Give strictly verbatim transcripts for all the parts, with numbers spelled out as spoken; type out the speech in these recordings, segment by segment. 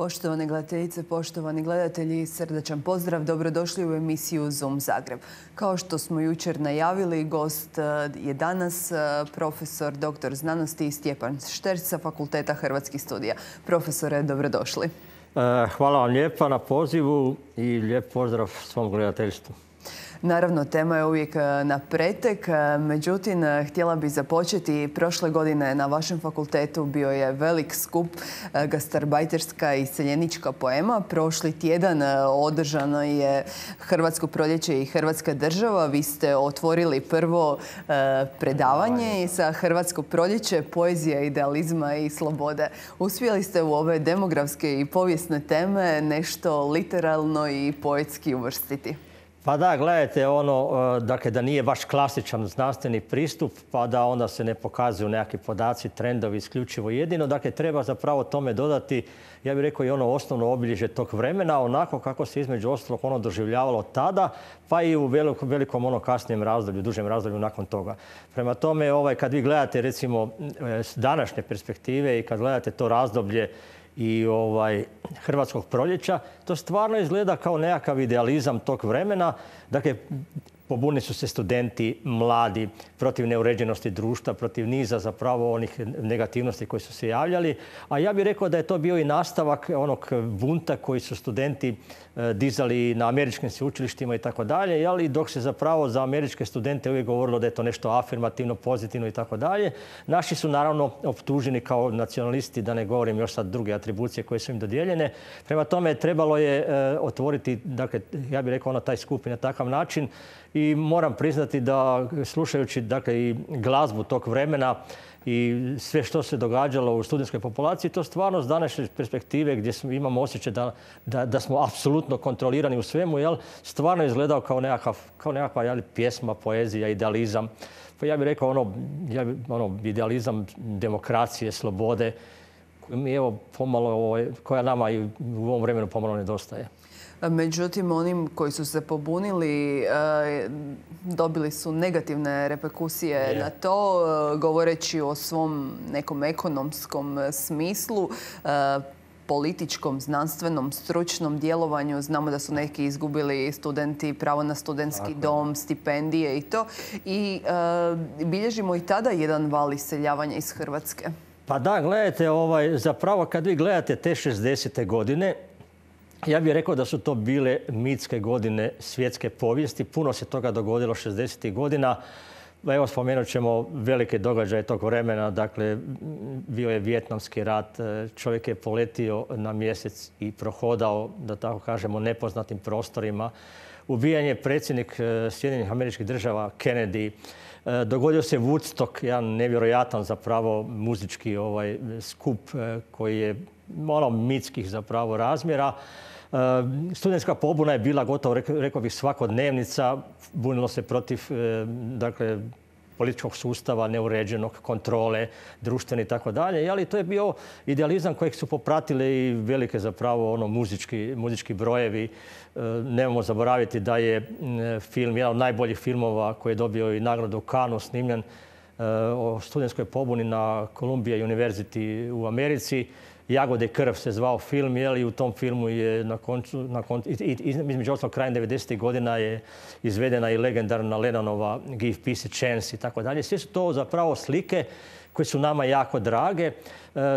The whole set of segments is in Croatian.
Poštovane gledateljice, poštovani gledatelji, srdačan pozdrav. Dobrodošli u emisiju Zoom Zagreb. Kao što smo jučer najavili, gost je danas profesor doktor znanosti Stjepan Šterc sa Fakulteta Hrvatskih studija. Profesore, dobrodošli. Hvala vam lijepa na pozivu i lijep pozdrav svom gledateljstvu. Naravno, tema je uvijek na pretek, međutim, htjela bih započeti. Prošle godine na vašem fakultetu bio je velik skup gastarbajterska i iseljenička poema. Prošli tjedan održano je Hrvatsko proljeće i Hrvatska država. Vi ste otvorili prvo predavanje sa Hrvatsko proljeće, poezija idealizma i slobode. Uspjeli ste u ove demografske i povijesne teme nešto literalno i poetski uvrstiti. Pa da, gledajte, ono, dakle, da nije baš klasičan znanstveni pristup, pa da onda se ne pokazuju nekakvi podaci, trendovi isključivo jedino. Dakle, treba zapravo tome dodati, ja bih rekao, i ono osnovno obilježje tog vremena, onako kako se između ostalog ono doživljavalo tada, pa i u velikom, velikom ono kasnijem razdoblju, dužem razdoblju nakon toga. Prema tome, ovaj, kad vi gledate, recimo, s današnje perspektive i kad gledate to razdoblje i ovaj, Hrvatskog proljeća, to stvarno izgleda kao nekakav idealizam tog vremena. Dakle, pobunili su se studenti, mladi, protiv neuređenosti društva, protiv niza zapravo onih negativnosti koji su se javljali. A ja bih rekao da je to bio i nastavak onog bunta koji su studenti dizali na američkim sveučilištima i tako dalje, ali dok se zapravo za američke studente uvijek govorilo da je to nešto afirmativno, pozitivno i tako dalje. Naši su naravno optuženi kao nacionalisti, da ne govorim još sad druge atribucije koje su im dodijeljene. Prema tome trebalo je otvoriti, dakle, ja bih rekao ono taj skup na takav način. I moram priznati da slušajući, dakle, i glazbu tog vremena i sve što se događalo u studentskoj populaciji, to stvarno s današnje perspektive gdje imamo osjećaj da, da, da smo apsolutno kontrolirani u svemu, jel, stvarno izgledao kao nekakav, kao nekakva jel, pjesma, poezija, idealizam. Pa ja bih rekao ono, ja bih, ono idealizam demokracije, slobode, mi evo pomalo, ovaj, koja nama i u ovom vremenu pomalo nedostaje. Međutim, onim koji su se pobunili dobili su negativne reperkusije yeah. na to, govoreći o svom nekom ekonomskom smislu, političkom, znanstvenom, stručnom djelovanju. Znamo da su neki izgubili studenti pravo na studentski Tako. dom, stipendije i to. I bilježimo i tada jedan val iseljavanja iz Hrvatske. Pa da, gledajte, ovaj, zapravo kad vi gledate te šezdesete godine, ja bih rekao da su to bile mitske godine svjetske povijesti. Puno se toga dogodilo šezdesetih godina. Evo, spomenut ćemo velike događaje tog vremena. Dakle, bio je Vijetnamski rat. Čovjek je poletio na mjesec i prohodao, da tako kažemo, nepoznatim prostorima. Ubijen je predsjednik Sjedinjenih Američkih Država Kennedy. Dogodio se Woodstock, jedan nevjerojatan zapravo muzički ovaj, skup koji je ono mitskih zapravo razmjera. Studentska pobuna je bila gotovo, rekao bih, svakodnevnica. Bunilo se protiv, dakle, političkog sustava, neuređenog, kontrole, društvene i tako dalje. Ali to je bio idealizam kojeg su popratile i velike zapravo ono muzički, muzički brojevi. Nemojmo zaboraviti da je film, jedan od najboljih filmova koji je dobio i nagradu u Cannesu, snimljen o studentskoj pobuni na Columbia University u Americi. Jagode i krv se zvao film, i u tom filmu je na koncu, na koncu i, i, između ostalog krajem devedesetih godina je izvedena i legendarna Lennonova Give Peace a Chance i tako dalje. Sve su to zapravo slike koje su nama jako drage,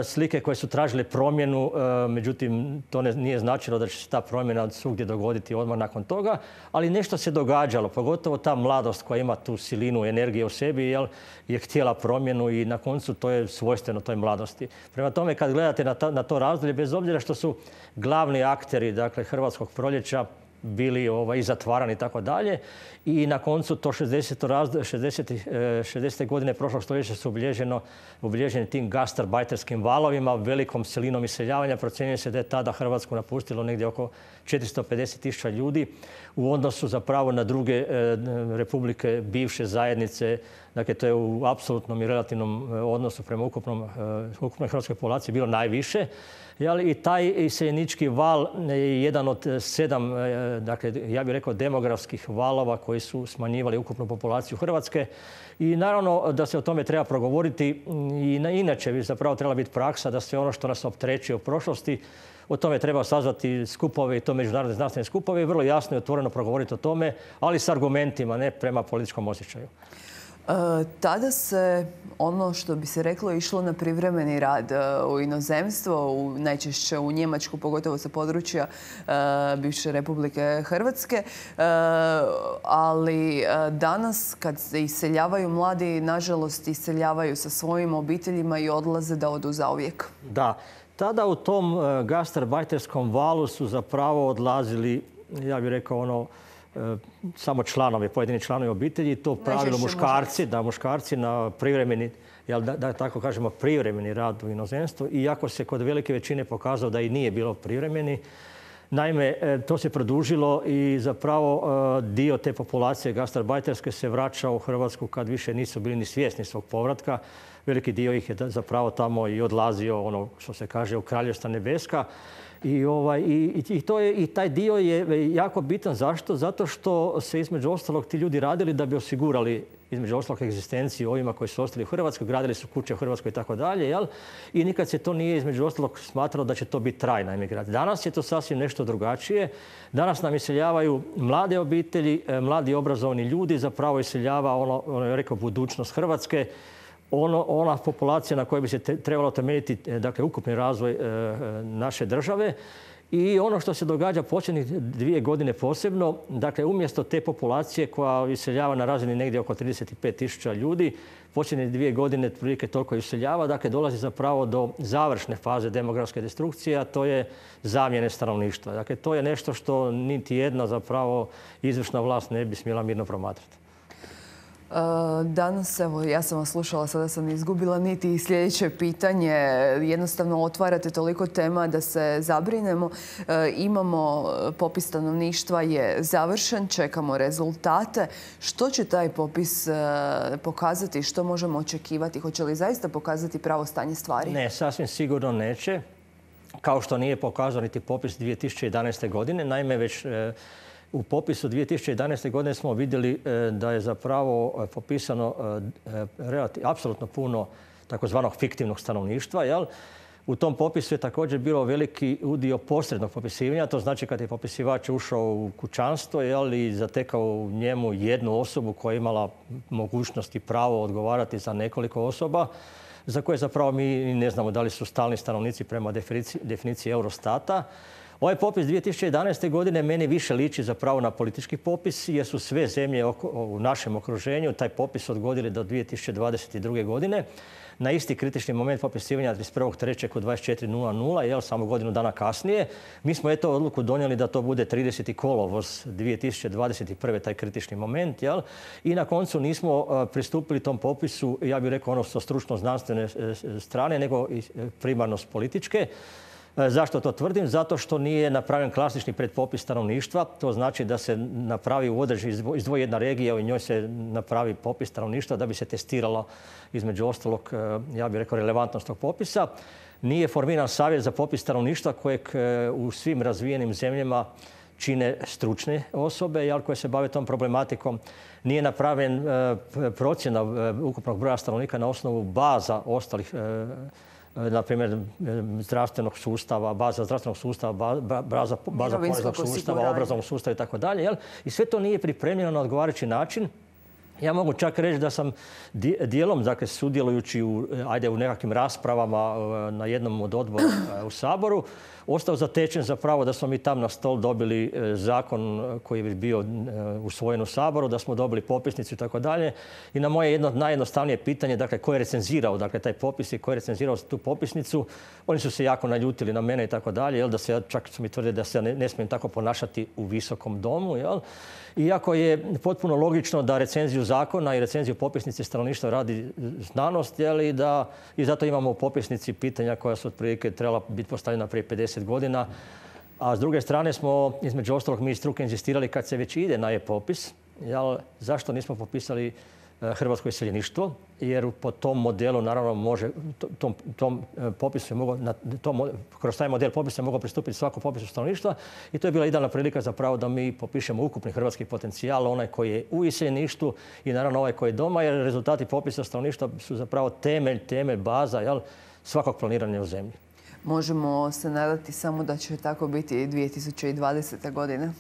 slike koje su tražile promjenu, međutim to ne, nije značilo da će se ta promjena svugdje dogoditi odmah nakon toga, ali nešto se događalo, pogotovo ta mladost koja ima tu silinu energije u sebi, jel, je htjela promjenu i na koncu to je svojstveno toj mladosti. Prema tome, kad gledate na, ta, na to razdoblje, bez obzira što su glavni akteri, dakle, Hrvatskog proljeća bili ovaj, i zatvarani i tako dalje. I na koncu to šezdesete godine prošlog stoljeća su obilježeni tim gastarbajterskim valovima, velikom silinom iseljavanja. Procjenjuje se da je tada Hrvatsku napustilo negdje oko četiristo pedeset tisuća ljudi u odnosu zapravo na druge e, republike, bivše zajednice. Dakle, to je u apsolutnom i relativnom odnosu prema ukupnom, e, ukupnoj hrvatskoj populaciji bilo najviše. I taj iseljenički val je jedan od sedam dakle, ja bih rekao demografskih valova koji su smanjivali ukupnu populaciju Hrvatske. I naravno da se o tome treba progovoriti i inače bi zapravo trebala biti praksa da sve ono što nas opterećuje u prošlosti, o tome treba sazvati skupove i to međunarodne znanstvene skupove i vrlo jasno i otvoreno progovoriti o tome, ali s argumentima, ne prema političkom osjećaju. E, tada se ono što bi se reklo išlo na privremeni rad e, u inozemstvo, u, najčešće u Njemačku, pogotovo sa područja e, bivše Republike Hrvatske. E, ali e, danas kad se iseljavaju mladi, nažalost iseljavaju sa svojim obiteljima i odlaze da odu zauvijek. Da. Tada u tom e, gastarbajterskom valu su zapravo odlazili, ja bih rekao ono, samo članovi, pojedini članovi obitelji, to pravilo muškarci, da muškarci na privremeni, jel, da, da tako kažemo, privremeni rad u inozemstvu, iako se kod velike većine pokazalo da i nije bilo privremeni. Naime, to se produžilo i zapravo dio te populacije gastarbajterske se vraćao u Hrvatsku kad više nisu bili ni svjesni svog povratka. Veliki dio ih je zapravo tamo i odlazio, ono što se kaže, u Kraljevstva nebeska. I, ovaj, i, i, to je, i taj dio je jako bitan. Zašto? Zato što se između ostalog ti ljudi radili da bi osigurali između ostalog egzistenciju ovima koji su ostali u Hrvatskoj, gradili su kuće u Hrvatskoj i tako dalje, jel? I nikad se to nije između ostalog smatralo da će to biti trajna emigracija. Danas je to sasvim nešto drugačije. Danas nam iseljavaju mlade obitelji, mladi obrazovani ljudi, zapravo iseljava ono, ono je rekao, budućnost Hrvatske. Ono, ona populacija na kojoj bi se te, trebalo temeljiti, dakle, ukupni razvoj e, naše države. I ono što se događa posljednjih dvije godine posebno, dakle, umjesto te populacije koja iseljava na razini negdje oko trideset pet tisuća ljudi, posljednje dvije godine otprilike toliko iseljava, dakle, dolazi zapravo do završne faze demografske destrukcije, a to je zamjene stanovništva. Dakle, to je nešto što niti jedna zapravo izvršna vlast ne bi smjela mirno promatrati. Danas, evo, ja sam vas slušala, sada sam izgubila niti sljedeće pitanje. Jednostavno otvarate toliko tema da se zabrinemo. Imamo, popis stanovništva je završen, čekamo rezultate. Što će taj popis pokazati? Što možemo očekivati? Hoće li zaista pokazati pravo stanje stvari? Ne, sasvim sigurno neće. Kao što nije pokazao niti popis dvije tisuće jedanaeste. godine. Naime, već u popisu dvije tisuće jedanaeste. godine smo vidjeli da je zapravo popisano apsolutno puno takozvanog fiktivnog stanovništva. Jel? U tom popisu je također bilo veliki udio posrednog popisivanja. To znači kad je popisivač ušao u kućanstvo, jel, i zatekao u njemu jednu osobu koja je imala mogućnost i pravo odgovarati za nekoliko osoba, za koje zapravo mi ne znamo da li su stalni stanovnici prema definiciji, definiciji Eurostata. Ovaj popis dvije tisuće jedanaeste. godine meni više liči zapravo na politički popis, jer su sve zemlje u našem okruženju taj popis odgodili do dvije tisuće dvadeset druge. godine. Na isti kritični moment popisivanja trideset prvog trećeg u dvadeset četiri nula nula, jel, samo godinu dana kasnije. Mi smo eto odluku donijeli da to bude trideseti kolovoz dvije tisuće dvadeset prve. taj kritični moment. Jel? I na koncu nismo pristupili tom popisu, ja bih rekao, ono sa stručno-znanstvene strane, nego i primarno s političke. Zašto to tvrdim? Zato što nije napravljen klasični predpopis stanovništva. To znači da se napravi u određenoj, izdvoji jedna regija, u njoj se napravi popis stanovništva da bi se testiralo između ostalog, ja bih rekao, relevantnost tog popisa. Nije formiran savjet za popis stanovništva kojeg u svim razvijenim zemljama čine stručne osobe, jel, koje se bave tom problematikom. Nije napravljen procjena ukupnog broja stanovnika na osnovu baza ostalih, na primjer, zdravstvenog sustava, baza zdravstvenog sustava, baza, baza poreznog sustava, obrazovnog sustava i tako dalje. I sve to nije pripremljeno na odgovarajući način. Ja mogu čak reći da sam dijelom, dakle, sudjelujući u, ajde, u nekakvim raspravama na jednom od odbora u Saboru, ostao zatečen zapravo da smo mi tam na stol dobili zakon koji je bio usvojen u Saboru, da smo dobili popisnicu i tako dalje. I na moje jedno najjednostavnije pitanje, dakle, ko je recenzirao, dakle, taj popis i ko je recenzirao tu popisnicu, oni su se jako naljutili na mene i tako dalje, jel, da se, čak su mi tvrdili da se ne, ne smijem tako ponašati u visokom domu, jel. Iako je potpuno logično da recenziju zakona i recenziju popisnice stanovništva radi znanost, jel, i, da, i zato imamo u popisnici pitanja koja su otprilike trebala biti postavljena prije pedeset godina. A s druge strane smo, između ostalog, mi iz struke inzistirali kad se već ide na e-popis, jel, zašto nismo popisali hrvatsko iseljeništvo, jer po tom modelu, naravno, može, tom, tom popisu je mogao, na tom, kroz taj model popisa je mogao pristupiti svako popisu stanovništva i to je bila idealna prilika zapravo da mi popišemo ukupni hrvatski potencijal, onaj koji je u iseljeništvu i naravno ovaj koji je doma, jer rezultati popisa stanovništva su zapravo temelj, temelj, baza, jel, svakog planiranja u zemlji. Možemo se nadati samo da će tako biti i dvije tisuće dvadesete. godine?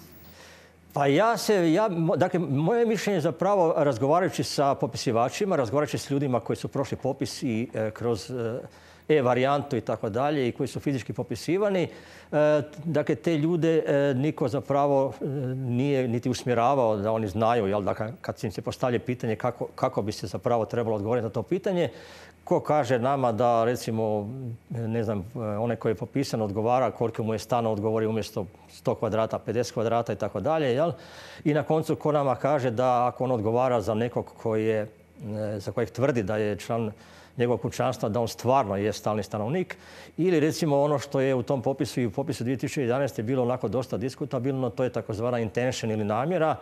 Pa ja se, ja, dakle, moje mišljenje zapravo razgovarajući sa popisivačima, razgovarajući s ljudima koji su prošli popis i e, kroz e, e-varijantu i tako dalje i koji su fizički popisivani, e, dakle, te ljude e, niko zapravo e, nije niti usmjeravao da oni znaju, jel, dakle, kad im se postavlja pitanje kako, kako bi se zapravo trebalo odgovoriti na to pitanje, ko kaže nama da, recimo, ne znam, onaj koji je popisan odgovara koliko mu je stana, odgovori umjesto sto kvadrata, pedeset kvadrata i tako dalje, jel? I na koncu ko nama kaže da ako on odgovara za nekog koji je, za kojeg tvrdi da je član njegovog kućanstva, da on stvarno je stalni stanovnik. Ili recimo ono što je u tom popisu i u popisu dvije tisuće jedanaeste. bilo onako dosta diskutabilno, to je takozvana intention ili namjera.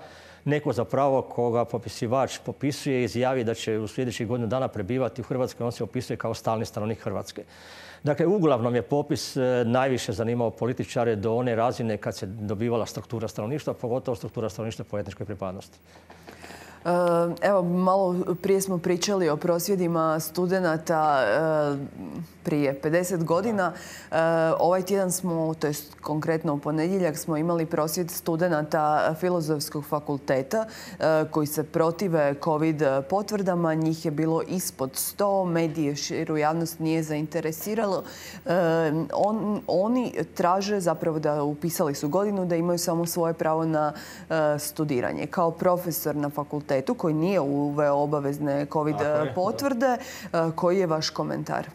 Neko zapravo koga popisivač popisuje izjavi da će u sljedećih godinu dana prebivati u Hrvatskoj, on se opisuje kao stalni stanovnik Hrvatske. Dakle, uglavnom je popis najviše zanimao političare do one razine kad se dobivala struktura stanovništva, pogotovo struktura stanovništva po etničkoj pripadnosti. Evo, malo prije smo pričali o prosvjedima studenata prije pedeset godina. Ovaj tjedan smo, to jest konkretno u ponedjeljak, smo imali prosvjed studenata Filozofskog fakulteta koji se protive COVID potvrdama. Njih je bilo ispod sto, medije širu javnost nije zainteresiralo. On, oni traže zapravo da upisali su godinu, da imaju samo svoje pravo na studiranje. Kao profesor na fakultetu koji nije uveo obavezne COVID potvrde, koji je vaš komentar?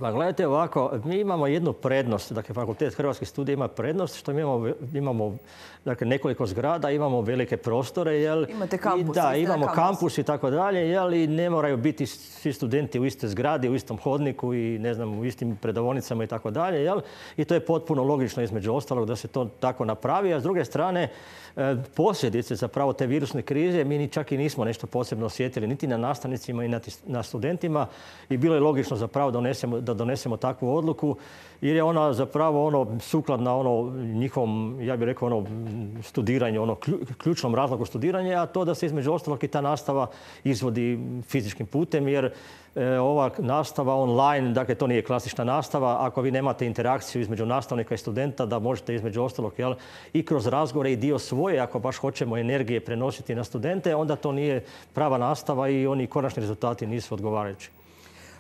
Pa gledajte ovako, mi imamo jednu prednost, dakle Fakultet hrvatskih studija ima prednost što mi imamo, imamo dakle, nekoliko zgrada, imamo velike prostore, jel? Imate kampus. I, da, imamo kampus. kampus i tako dalje, jel? I ne moraju biti svi studenti u istoj zgradi, u istom hodniku i ne znam, u istim predavonicama i tako dalje, jel? I to je potpuno logično između ostalog da se to tako napravi, a s druge strane posljedice zapravo te virusne krize mi ni čak i nismo nešto posebno osjetili niti na nastavnicima i na studentima i bilo je logično zapravo donesemo, da donesemo takvu odluku jer je ona zapravo ono sukladna ono njihovom, ja bih rekao, ono studiranju, ono ključnom razlogu studiranja, a to da se između ostalog i ta nastava izvodi fizičkim putem jer ova nastava online, dakle to nije klasična nastava, ako vi nemate interakciju između nastavnika i studenta, da možete između ostalog, jel, i kroz razgovore i dio svoje, ako baš hoćemo energije prenositi na studente, onda to nije prava nastava i oni konačni rezultati nisu odgovarajući.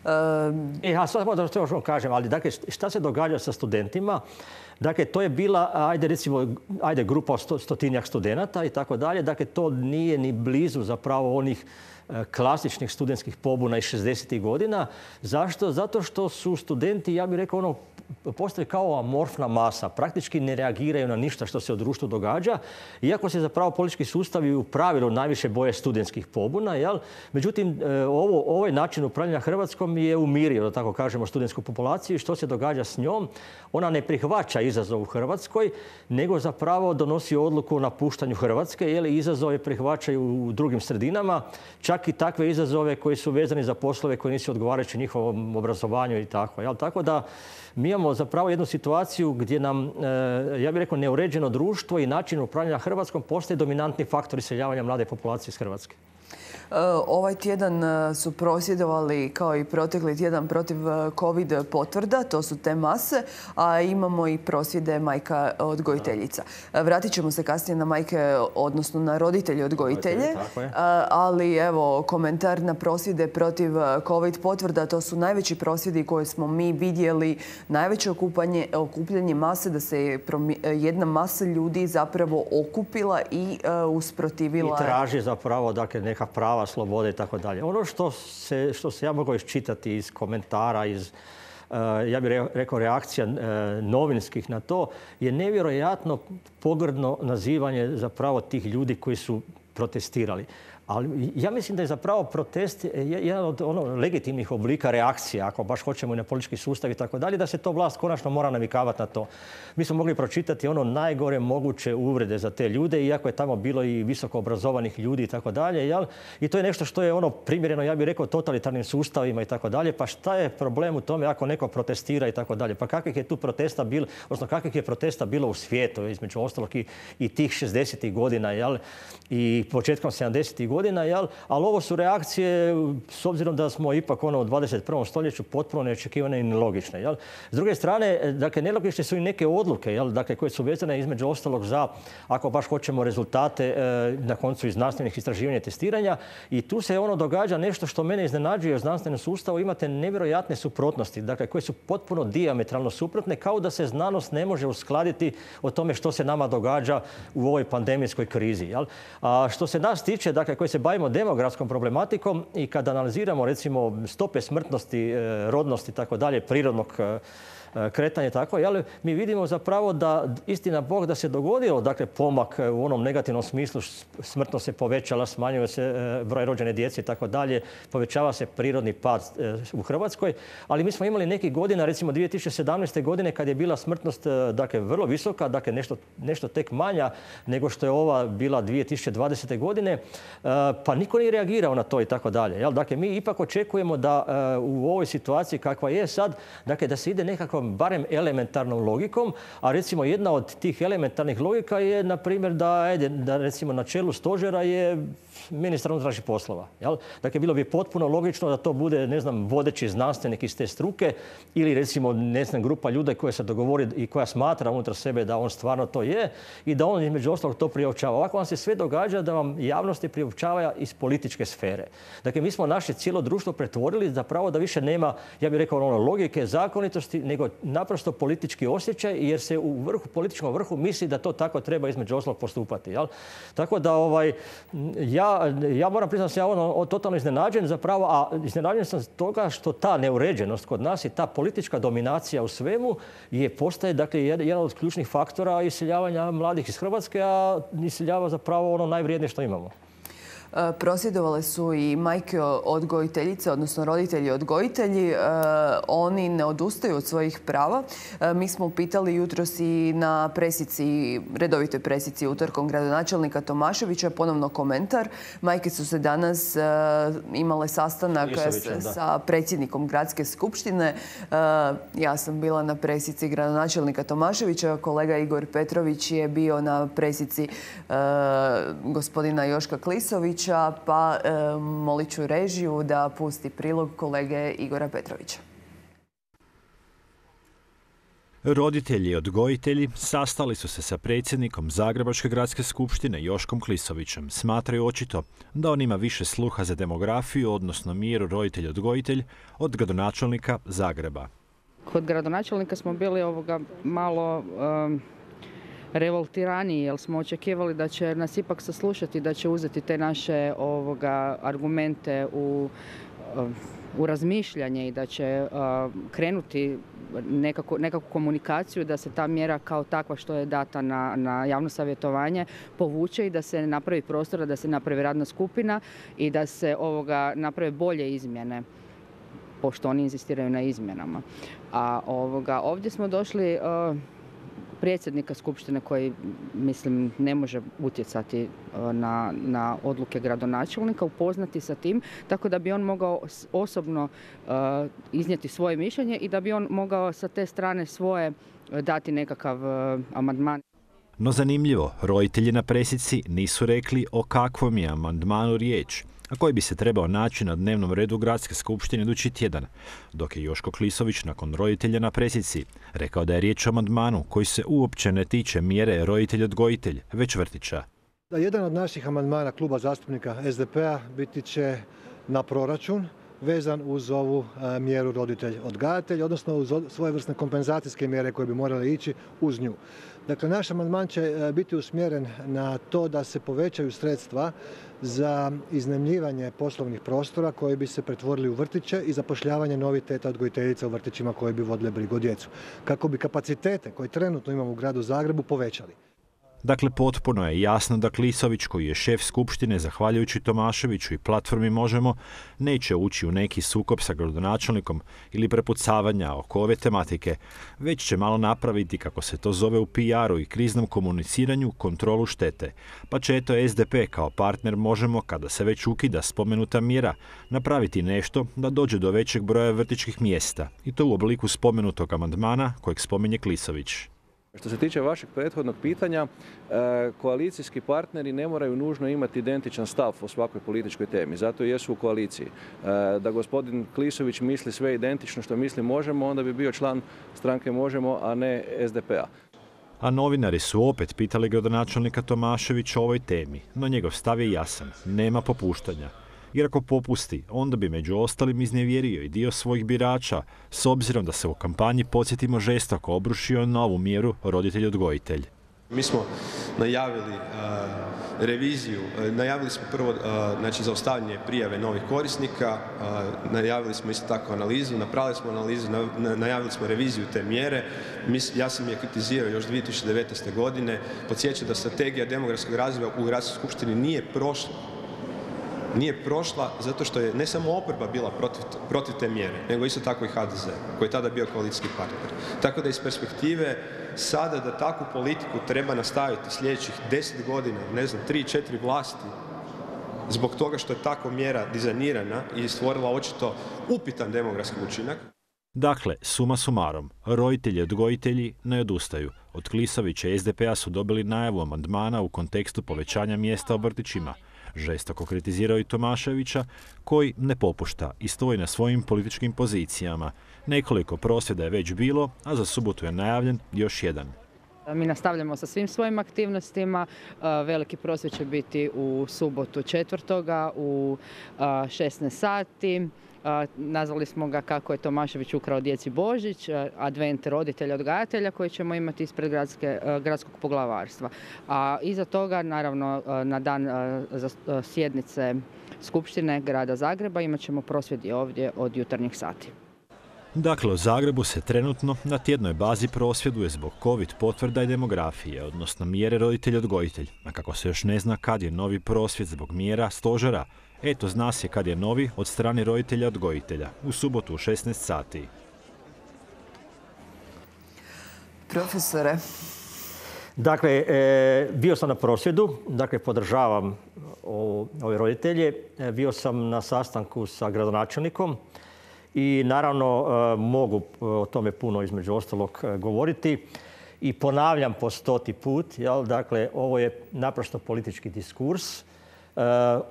Um... E, a sad možda što još kažem, ali dakle, šta se događa sa studentima? Dakle, to je bila, ajde recimo, ajde grupa sto, stotinjak studenata i tako dalje. Dakle, to nije ni blizu zapravo onih klasičnih studentskih pobuna iz šezdesetih godina. Zašto? Zato što su studenti, ja bih rekao, ono, postoje kao amorfna masa. Praktički ne reagiraju na ništa što se u društvu događa. Iako se zapravo politički sustavi u pravilu najviše boje studentskih pobuna. Jel? Međutim, ovo, ovaj način upravljanja Hrvatskom je umirio, da tako kažemo, studentsku populaciju. Što se događa s njom? Ona ne prihvaća izazov u Hrvatskoj, nego zapravo donosi odluku o napuštanju Hrvatske. Jel? Izazove prihvaćaju u drugim sredinama. Čak i takve izazove koji su vezani za poslove koji nisu odgovarajući njihovom obrazovanju i tako. Jel? Tako da mi imamo zapravo jednu situaciju gdje nam, ja bih rekao, neuređeno društvo i način upravljanja Hrvatskom postaje dominantni faktor iseljavanja mlade populacije iz Hrvatske. Ovaj tjedan su prosvjedovali kao i protekli tjedan protiv COVID potvrda, to su te mase, a imamo i prosvjede majka odgojiteljica. Vratit ćemo se kasnije na majke, odnosno na roditelje odgojitelje, ali evo komentar na prosvjede protiv COVID potvrda, to su najveći prosvjedi koje smo mi vidjeli, najveće okupanje, okupljanje mase, da se jedna masa ljudi zapravo okupila i usprotivila. I traži zapravo, dakle, neka prava, slobode i tako dalje. Ono što se, što se ja mogu iščitati iz komentara, iz, ja bih rekao, reakcija novinskih na to, je nevjerojatno pogrdno nazivanje zapravo tih ljudi koji su protestirali. Ali ja mislim da je zapravo protest jedan od ono, legitimnih oblika reakcija, ako baš hoćemo i na politički sustav i tako dalje, da se to vlast konačno mora navikavati na to. Mi smo mogli pročitati ono najgore moguće uvrede za te ljude, iako je tamo bilo i visoko obrazovanih ljudi i tako dalje. I to je nešto što je ono primjereno, ja bih rekao, totalitarnim sustavima i tako dalje. Pa šta je problem u tome ako neko protestira i tako dalje? Pa kakvih je tu protesta bilo, odnosno kakvih je protesta bilo u svijetu, između ostalog i, i tih šezdesetih godina, jel? I početkom sedamdesetih godina, jel? Ali ovo su reakcije, s obzirom da smo ipak ono u dvadeset prvom stoljeću, potpuno neočekivane i nelogične, jel? S druge strane, dakle, nelogične su i neke odluke, jel? Dakle, koje su vezane između ostalog za, ako baš hoćemo, rezultate e, na koncu iz znanstvenih istraživanja i testiranja. I tu se ono događa nešto što mene iznenađuje u znanstvenom sustavu. Imate nevjerojatne suprotnosti, dakle, koje su potpuno dijametralno suprotne, kao da se znanost ne može uskladiti o tome što se nama događa u ovoj pandemijskoj krizi. Jel? A što se nas tiče, dakle, koji se bavimo demografskom problematikom i kad analiziramo recimo stope smrtnosti, rodnosti i tako dalje, prirodnog kretanje tako, jel, mi vidimo zapravo da, istina Bog, da se dogodio dakle, pomak u onom negativnom smislu, smrtnost se povećala, smanjuje se broj rođene djece i tako dalje, povećava se prirodni pad u Hrvatskoj, ali mi smo imali nekih godina, recimo dvije tisuće sedamnaeste. godine, kad je bila smrtnost dakle, vrlo visoka, dakle nešto, nešto tek manja nego što je ova bila dvije tisuće dvadesete. godine, pa niko nije reagirao na to i tako dalje. Jel? Dakle, mi ipak očekujemo da u ovoj situaciji kakva je sad, dakle, da se ide nekako barem elementarnom logikom, a recimo jedna od tih elementarnih logika je, na primjer, da, ajde, da recimo na čelu stožera je ministar unutrašnjih poslova. Jel? Dakle, bilo bi potpuno logično da to bude, ne znam, vodeći znanstvenik iz te struke ili recimo, ne znam, grupa ljudi koja se dogovori i koja smatra unutar sebe da on stvarno to je i da on između ostalog to priopćava. Ovako vam se sve događa da vam javnosti priopćava iz političke sfere. Dakle, mi smo naše cijelo društvo pretvorili zapravo da više nema, ja bih rekao, ono, logike, zakonitosti, nego naprosto politički osjećaj, jer se u vrhu, političkom vrhu misli da to tako treba između ostalog postupati. Jel? Tako da ovaj, ja, ja moram priznati da sam ja ono, totalno iznenađen zapravo, a iznenađen sam toga što ta neuređenost kod nas i ta politička dominacija u svemu je postaje dakle, jedan od ključnih faktora iseljavanja mladih iz Hrvatske, a iseljava zapravo ono najvrijednije što imamo. Prosvjedovale su i majke odgojiteljice, odnosno roditelji odgojitelji. Oni ne odustaju od svojih prava. Mi smo pitali jutros i na presici, redovitoj presici utorkom gradonačelnika Tomaševića, ponovno komentar. Majke su se danas imale sastanak sa predsjednikom Gradske skupštine. Ja sam bila na presici gradonačelnika Tomaševića, kolega Igor Petrović je bio na presici gospodina Joška Klisovića, pa e, molit ću režiju da pusti prilog kolege Igora Petrovića. Roditelji i odgojitelji sastali su se sa predsjednikom Zagrebačke gradske skupštine Joškom Klisovićem. Smatraju očito da on ima više sluha za demografiju, odnosno mjeru roditelj-odgojitelj, od gradonačelnika Zagreba. Kod gradonačelnika smo bili ovoga malo um, revoltiraniji, jer smo očekivali da će nas ipak saslušati, da će uzeti te naše ovoga argumente u, u razmišljanje i da će uh, krenuti nekako, nekakvu komunikaciju, da se ta mjera kao takva što je data na, na javno savjetovanje povuče i da se napravi prostora, da se napravi radna skupina i da se ovoga naprave bolje izmjene, pošto oni inzistiraju na izmjenama. A ovoga, ovdje smo došli uh, predsjednika skupštine koji, mislim, ne može utjecati na, na odluke gradonačelnika, upoznati sa tim, tako da bi on mogao osobno uh, iznijeti svoje mišljenje i da bi on mogao sa te strane svoje dati nekakav uh, amandman. No zanimljivo, roditelji na presici nisu rekli o kakvom je amandmanu riječ, a koji bi se trebao naći na dnevnom redu Gradske skupštine idući tjedan, dok je Joško Klisović nakon roditelja na presici rekao da je riječ o amandmanu koji se uopće ne tiče mjere roditelj-odgojitelj, već vrtića. Da, jedan od naših amandmana kluba zastupnika S D P-a biti će na proračun vezan uz ovu a, mjeru roditelj-odgajatelj, odnosno uz svojevrsne kompenzacijske mjere koje bi morale ići uz nju. Dakle, naš amandman će a, biti usmjeren na to da se povećaju sredstva za iznajmljivanje poslovnih prostora koji bi se pretvorili u vrtiće i zapošljavanje novih teta odgojiteljica u vrtićima koji bi vodile brigu o djecu, kako bi kapacitete koje trenutno imamo u gradu Zagrebu povećali. Dakle, potpuno je jasno da Klisović, koji je šef skupštine zahvaljujući Tomaševiću i platformi Možemo, neće ući u neki sukob sa gradonačelnikom ili prepucavanja oko ove tematike, već će malo napraviti, kako se to zove u P R-u i kriznom komuniciranju, kontrolu štete. Pa će eto S D P kao partner Možemo, kada se već ukida spomenuta mjera, napraviti nešto da dođe do većeg broja vrtićkih mjesta, i to u obliku spomenutog amandmana kojeg spominje Klisović. Što se tiče vašeg prethodnog pitanja, koalicijski partneri ne moraju nužno imati identičan stav o svakoj političkoj temi, zato jesu u koaliciji. Da gospodin Klisović misli sve identično što misli Možemo, onda bi bio član stranke Možemo, a ne S D P-a. A novinari su opet pitali gradonačelnika Tomaševića o ovoj temi, no njegov stav je jasan, nema popuštanja. Jer ako popusti, onda bi među ostalim iznevjerio i dio svojih birača, s obzirom da se u kampanji, podsjetimo, žestoko obrušio na ovu mjeru roditelj-odgojitelj. Mi smo najavili uh, reviziju, uh, najavili smo prvo uh, znači, zaustavljanje prijave novih korisnika, uh, najavili smo isto tako analizu, napravili smo analizu, na, najavili smo reviziju te mjere. Mi, ja sam je kritizirao još dvije tisuće devetnaeste. godine, podsjećam da strategija demografskog razvoja u Gradskoj skupštini nije prošla. Nije prošla zato što je ne samo oporba bila protiv, protiv te mjere, nego isto tako i H D Z, koji je tada bio koalicijski partner. Tako da iz perspektive sada da takvu politiku treba nastaviti sljedećih deset godina, ne znam, tri, četiri vlasti, zbog toga što je takva mjera dizajnirana i stvorila očito upitan demografski učinak. Dakle, suma sumarom, roditelji i odgojitelji ne odustaju. Od Klisovića i S D P-a su dobili najavu amandmana u kontekstu povećanja mjesta u vrtićima. Žestoko kritizirao i Tomaševića, koji ne popušta i stoji na svojim političkim pozicijama. Nekoliko prosvjeda je već bilo, a za subotu je najavljen još jedan. Mi nastavljamo sa svim svojim aktivnostima. Veliki prosvjed će biti u subotu četvrtoga u šesnaest sati. Nazvali smo ga kako je Tomašević ukrao djeci Božić, advent roditelja odgajatelja koji ćemo imati ispred gradske, gradskog poglavarstva. A iza toga, naravno, na dan sjednice Skupštine grada Zagreba imat ćemo prosvjedi ovdje od jutarnjih sati. Dakle, u Zagrebu se trenutno na tjednoj bazi prosvjeduje zbog COVID potvrda i demografije, odnosno mjere roditelj-odgojitelj. A kako se još ne zna kad je novi prosvjed zbog mjera stožera, eto zna se kad je novi od strane roditelja-odgojitelja, u subotu u šesnaest sati. Profesore. Dakle, e, bio sam na prosvjedu, dakle podržavam o, ove roditelje. E, bio sam na sastanku sa gradonačelnikom i naravno e, mogu o tome puno između ostalog e, govoriti. I ponavljam po stoti put, jel, dakle, ovo je naprosto politički diskurs. Uh,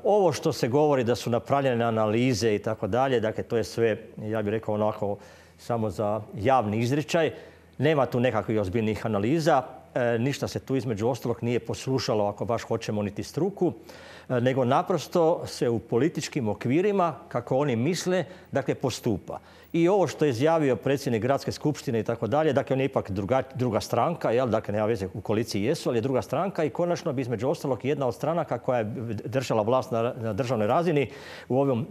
ovo što se govori da su napravljene analize i tako dalje, dakle to je sve, ja bih rekao onako, samo za javni izričaj. Nema tu nekakvih ozbiljnih analiza, uh, ništa se tu između ostalog nije poslušalo, ako baš hoćemo, niti struku, uh, nego naprosto se u političkim okvirima, kako oni misle, dakle postupa. I ovo što je izjavio predsjednik Gradske skupštine i tako dalje, dakle on je ipak druga, druga stranka, jel? Dakle nema veze, u koaliciji jesu, ali je druga stranka i konačno bi između ostalog jedna od stranaka koja je držala vlast na, na državnoj razini u, ovom,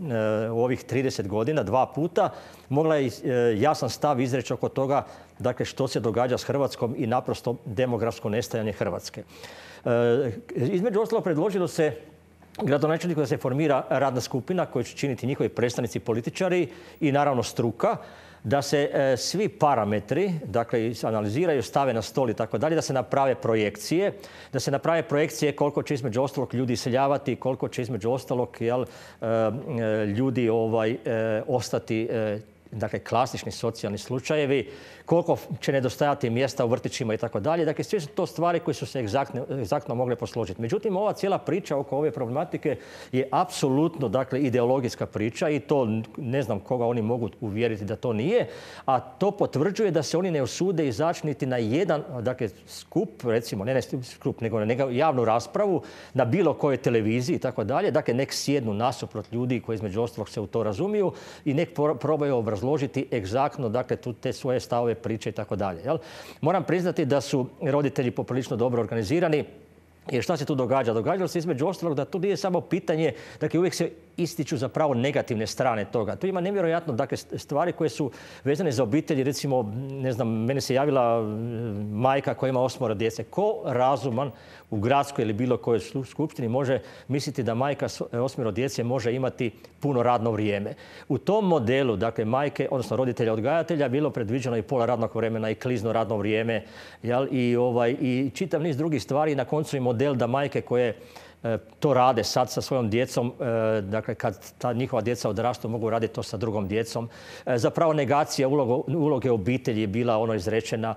u ovih trideset godina, dva puta, mogla je jasan stav izreći oko toga, dakle što se događa s Hrvatskom i naprosto demografsko nestajanje Hrvatske. Između ostalog predložilo se gradonačelniku da se formira radna skupina koju će činiti njihovi predstavnici političari i naravno struka, da se e, svi parametri, dakle, analiziraju, stave na stol i tako dalje, da se naprave projekcije, da se naprave projekcije koliko će između ostalog ljudi iseljavati, koliko će između ostalog jel, e, ljudi ovaj, e, ostati e, dakle, klasični socijalni slučajevi, koliko će nedostajati mjesta u vrtićima i tako dalje. Dakle, sve su to stvari koje su se egzaktno, egzaktno mogle posložiti. Međutim, ova cijela priča oko ove problematike je apsolutno, dakle, ideologijska priča i to ne znam koga oni mogu uvjeriti da to nije, a to potvrđuje da se oni ne usude izaći niti na jedan, dakle, skup, recimo, ne, ne skup, nego na javnu raspravu na bilo kojoj televiziji i tako dalje. Dakle, nek sjednu nasuprot ljudi koji između ostalog se u to razumiju i nek probaju obrazložiti egzaktno, dakle, tu te svoje stavove, priče i tako dalje. Moram priznati da su roditelji poprilično dobro organizirani Jer šta se tu događa? Događalo se između ostalog da tu nije samo pitanje, dakle uvijek se ističu zapravo negativne strane toga. Tu ima nevjerojatno dakle, stvari koje su vezane za obitelji. Recimo, ne znam, meni se javila majka koja ima osmoro djece. Ko razuman u gradskoj ili bilo kojoj skupštini može misliti da majka s osmero djece može imati puno radno vrijeme? U tom modelu, dakle, majke, odnosno roditelja odgajatelja, bilo predviđeno i pola radnog vremena i klizno radno vrijeme, jel? I, ovaj, i čitav niz drugih stvari. Na koncu i model da majke koje to rade sad sa svojom djecom, dakle kad ta njihova djeca odrastu mogu raditi to sa drugom djecom. Zapravo negacija uloge obitelji je bila ono izrečena.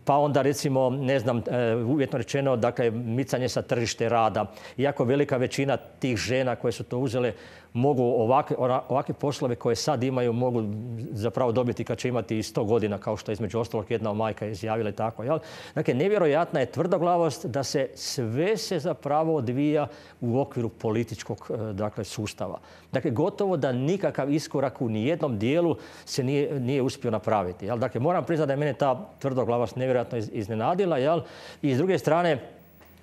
Pa onda recimo, ne znam, uvjetno rečeno, dakle micanje sa tržište rada. Iako velika većina tih žena koje su to uzele mogu ovakve, ovakve poslove koje sad imaju mogu zapravo dobiti kad će imati i sto godina, kao što je između ostalog jedna majka izjavila i tako. Jel? Dakle, nevjerojatna je tvrdoglavost da se sve se zapravo odvija u okviru političkog dakle, sustava. Dakle, gotovo da nikakav iskorak u nijednom dijelu se nije, nije uspio napraviti. Jel? Dakle, moram priznati da je mene ta tvrdoglavost nevjerojatno iznenadila. Jel? I s druge strane,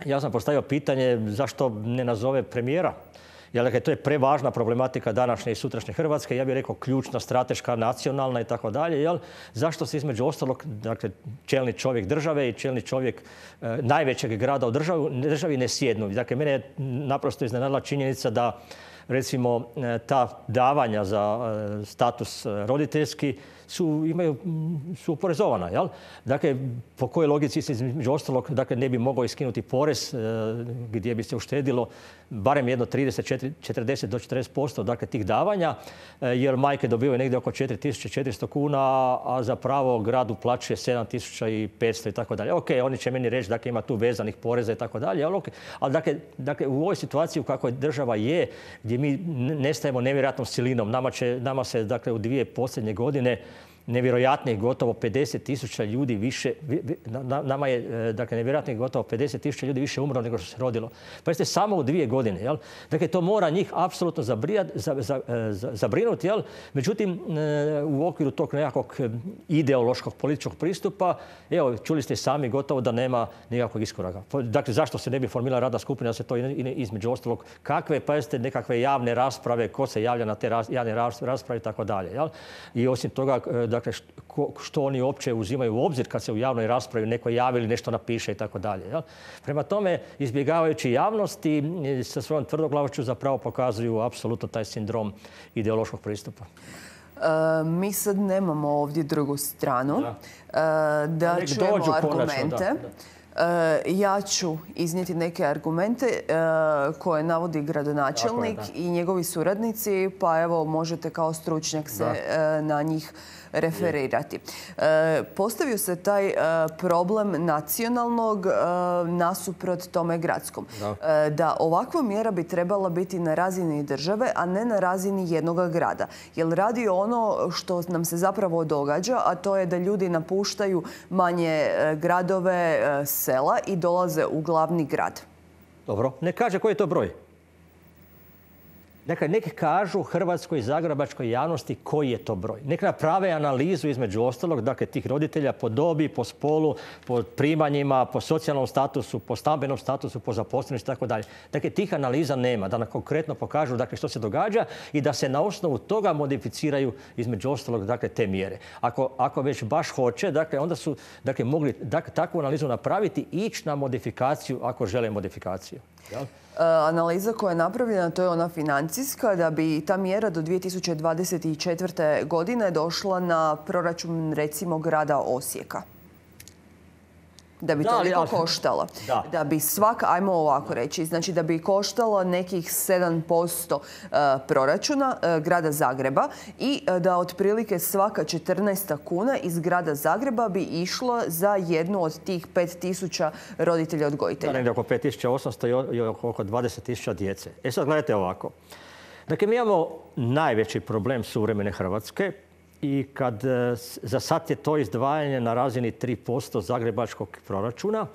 ja sam postavio pitanje zašto ne nazove premijera. Jer dakle, to je prevažna problematika današnje i sutrašnje Hrvatske, ja bih rekao ključna, strateška, nacionalna i tako dalje. Zašto se između ostalog, dakle, čelni čovjek države i čelni čovjek e, najvećeg grada u državi, državi ne sjednu? Dakle, mene je naprosto iznenadila činjenica da recimo ta davanja za status roditeljski su, imaju, su oporezovana. Jel? Dakle, po kojoj logici se između ostalog dakle, ne bi mogao iskinuti porez gdje bi se uštedilo barem jedno trideset, četrdeset do četrdeset posto dakle, tih davanja, jer majke dobivaju negdje oko četiri tisuće četiristo kuna, a zapravo grad uplaćuje sedam tisuća petsto i tako dalje. Ok, oni će meni reći da dakle, ima tu vezanih poreza i tako dalje, ali, okay. ali dakle, dakle, u ovoj situaciji u kakvoj država je, gdje mi nestajemo nevjerojatnom silinom, nama, će, nama se dakle, u dvije posljednje godine nevjerojatnih gotovo pedeset tisuća ljudi više, nama je dakle, nevjerojatnih gotovo pedeset tisuća ljudi više umrlo nego što se rodilo. Pa jeste samo u dvije godine. Jel? Dakle, to mora njih apsolutno zabrinuti. Jel? Međutim, u okviru tog nekakvog ideološkog političkog pristupa, evo, čuli ste sami gotovo da nema nikakvog iskoraka. Dakle, zašto se ne bi formirala radna skupina da se to između ostalog kakve, pa jeste nekakve javne rasprave, ko se javlja na te javne rasprave i tako dalje. I osim toga, dakle, što oni uopće uzimaju u obzir kad se u javnoj raspravi neko javi ili nešto napiše i tako dalje. Prema tome, izbjegavajući javnosti sa svojom tvrdoglavošću zapravo pokazuju apsolutno taj sindrom ideološkog pristupa. E, mi sad nemamo ovdje drugu stranu. Da, e, da čujemo argumente. Da, da. Ja ću iznijeti neke argumente koje navodi gradonačelnik je, i njegovi suradnici, pa evo možete kao stručnjak se da. na njih referirati. E, postavio se taj e, problem nacionalnog e, nasuprot tome gradskom. Da. E, da ovakva mjera bi trebala biti na razini države, a ne na razini jednog grada. Jer radi ono što nam se zapravo događa, a to je da ljudi napuštaju manje e, gradove, e, sela i dolaze u glavni grad. Dobro, ne kaže koji je to broj. Dakle, neki kažu hrvatskoj i zagrebačkoj javnosti koji je to broj. Neka naprave analizu između ostalog, dakle, tih roditelja po dobi, po spolu, po primanjima, po socijalnom statusu, po stambenom statusu, po zaposlenosti i tako dalje. Dakle, tih analiza nema, da nam konkretno pokažu dakle, što se događa i da se na osnovu toga modificiraju između ostalog dakle, te mjere. Ako, ako već baš hoće, dakle, onda su dakle, mogli dakle, takvu analizu napraviti i ići na modifikaciju ako žele modifikaciju. Jel? Analiza koja je napravljena, to je ona financijska, da bi ta mjera do dvije tisuće dvadeset četvrte. godine došla na proračun recimo grada Osijeka. Da bi toliko koštala. Da. da bi svaka, ajmo ovako reći, znači da bi koštalo nekih sedam posto proračuna grada Zagreba i da otprilike svaka četrnaesta kuna iz grada Zagreba bi išla za jednu od tih pet tisuća roditelja odgojitelja. Da, negdje oko pet tisuća osamsto i oko dvadeset tisuća djece. E sad gledajte ovako. Dakle, mi imamo najveći problem suvremene Hrvatske. I kad za sad je to izdvajanje na razini tri posto zagrebačkog proračuna,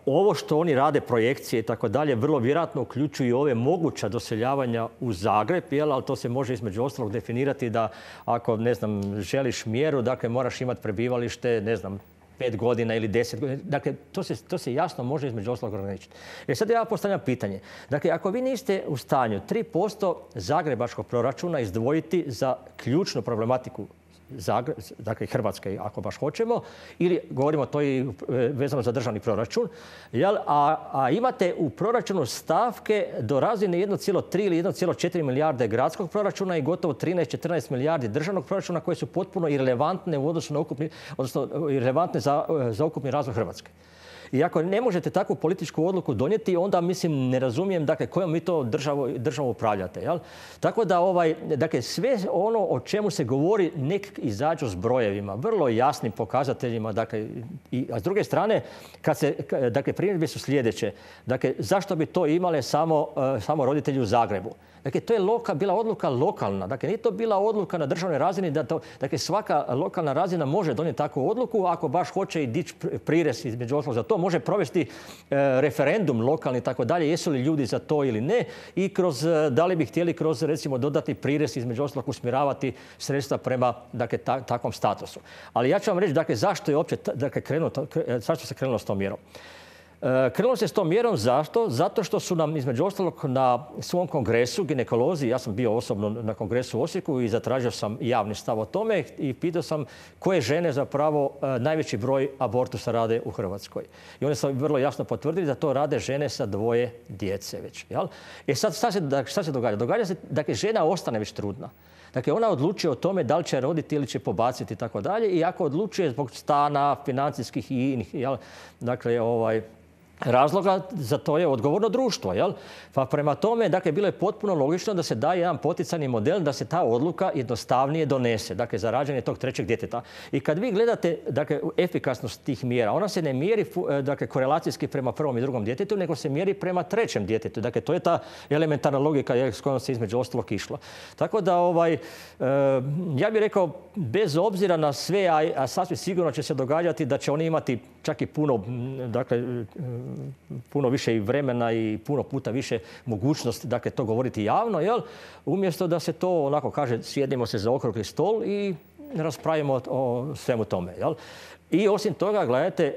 ovo što oni rade, projekcije i tako dalje, vrlo vjerojatno uključuju ove moguća doseljavanja u Zagreb, jel? Ali to se može između ostalog definirati da ako, ne znam, želiš mjeru, dakle moraš imati prebivalište, ne znam, pet godina ili deset godina. Dakle, to se, to se jasno može između ostalog ograničiti. E sad ja postavljam pitanje. Dakle, ako vi niste u stanju tri posto zagrebačkog proračuna izdvojiti za ključnu problematiku Zagreb, dakle Hrvatske, ako baš hoćemo, ili govorimo to i vezano za državni proračun, jel? A, a imate u proračunu stavke do razine jedan zarez tri ili jedan zarez četiri milijarde gradskog proračuna i gotovo trinaest do četrnaest milijardi državnog proračuna koje su potpuno irelevantne u odnosu na ukupni, odnosno irelevantne za, za ukupni razvoj Hrvatske. I ako ne možete takvu političku odluku donijeti, onda mislim ne razumijem dakle kojom vi to državu, državu upravljate. Jel? Tako da ovaj, dakle, sve ono o čemu se govori nek izađu s brojevima, vrlo jasnim pokazateljima. Dakle, i, a s druge strane, kad se, dakle, primjedbe su sljedeće. Dakle, zašto bi to imale samo, uh, samo roditelji u Zagrebu? Dakle, to je loka, bila odluka lokalna. Dakle, nije to bila odluka na državnoj razini. Da to, dakle, svaka lokalna razina može donijeti takvu odluku. Ako baš hoće i dići prirez između ostalog za to, može provesti e, referendum lokalni i tako dalje. Jesu li ljudi za to ili ne? I kroz, da li bi htjeli kroz, recimo, dodatni prirez između ostalog usmjeravati sredstva prema, dakle, ta, takvom statusu. Ali ja ću vam reći, dakle, zašto je uopće, dakle, krenuo, zašto se krenulo s tom mjerom. Krenulo se s tom mjerom zašto? Zato što su nam između ostalog na svom kongresu ginekolozi, ja sam bio osobno na kongresu u Osijeku i zatražio sam javni stav o tome i pitao sam koje žene zapravo najveći broj abortusa rade u Hrvatskoj. I oni su vrlo jasno potvrdili da to rade žene sa dvoje djece već. Jel? E sad šta se, šta se događa? Događa se da dakle, žena ostane već trudna. Dakle, ona odlučuje o tome da li će roditi ili će pobaciti i tako dalje. I ako odlučuje zbog stana, financijskih i inih, jel? Dakle, ovaj, razloga za to je odgovorno društvo. Jel? Pa prema tome, dakle, bilo je potpuno logično da se daje jedan poticajni model da se ta odluka jednostavnije donese, dakle, za rađanje tog trećeg djeteta. I kad vi gledate, dakle, efikasnost tih mjera, ona se ne mjeri, dakle, korelacijski prema prvom i drugom djetetu, nego se mjeri prema trećem djetetu. Dakle, to je ta elementarna logika s kojom se između ostalog išlo. Tako da, ovaj, e, ja bih rekao, bez obzira na sve, a, a sasvim sigurno će se događati da će oni imati čak i puno, dakle, puno više i vremena i puno puta više mogućnosti, dakle, to govoriti javno, jel? Umjesto da se to, onako kaže, sjednimo se za okrugli stol i raspravimo o svemu tome, jel? I osim toga, gledajte,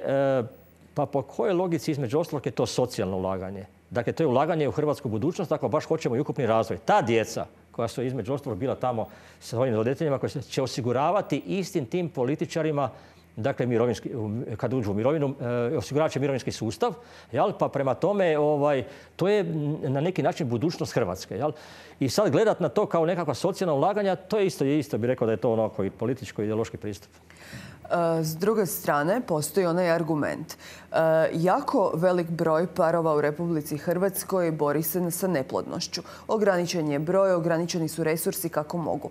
pa po kojoj logici između ostalog je to socijalno ulaganje? Dakle, to je ulaganje u hrvatsku budućnost, ako baš hoćemo i ukupni razvoj. Ta djeca koja su između ostalog bila tamo sa svojim roditeljima, koji će osiguravati istim tim političarima, dakle, mirovinski, kad uđu u mirovinu, e, osiguravat će mirovinski sustav, jel? Pa prema tome, ovaj, to je na neki način budućnost Hrvatske. Jel? I sad gledat na to kao nekakva socijalna ulaganja, to je isto, isto bih rekao da je to onako i političko-ideološki pristup. S druge strane, postoji onaj argument. Jako velik broj parova u Republici Hrvatskoj bori se sa neplodnošću. Ograničen je broj, ograničeni su resursi kako mogu.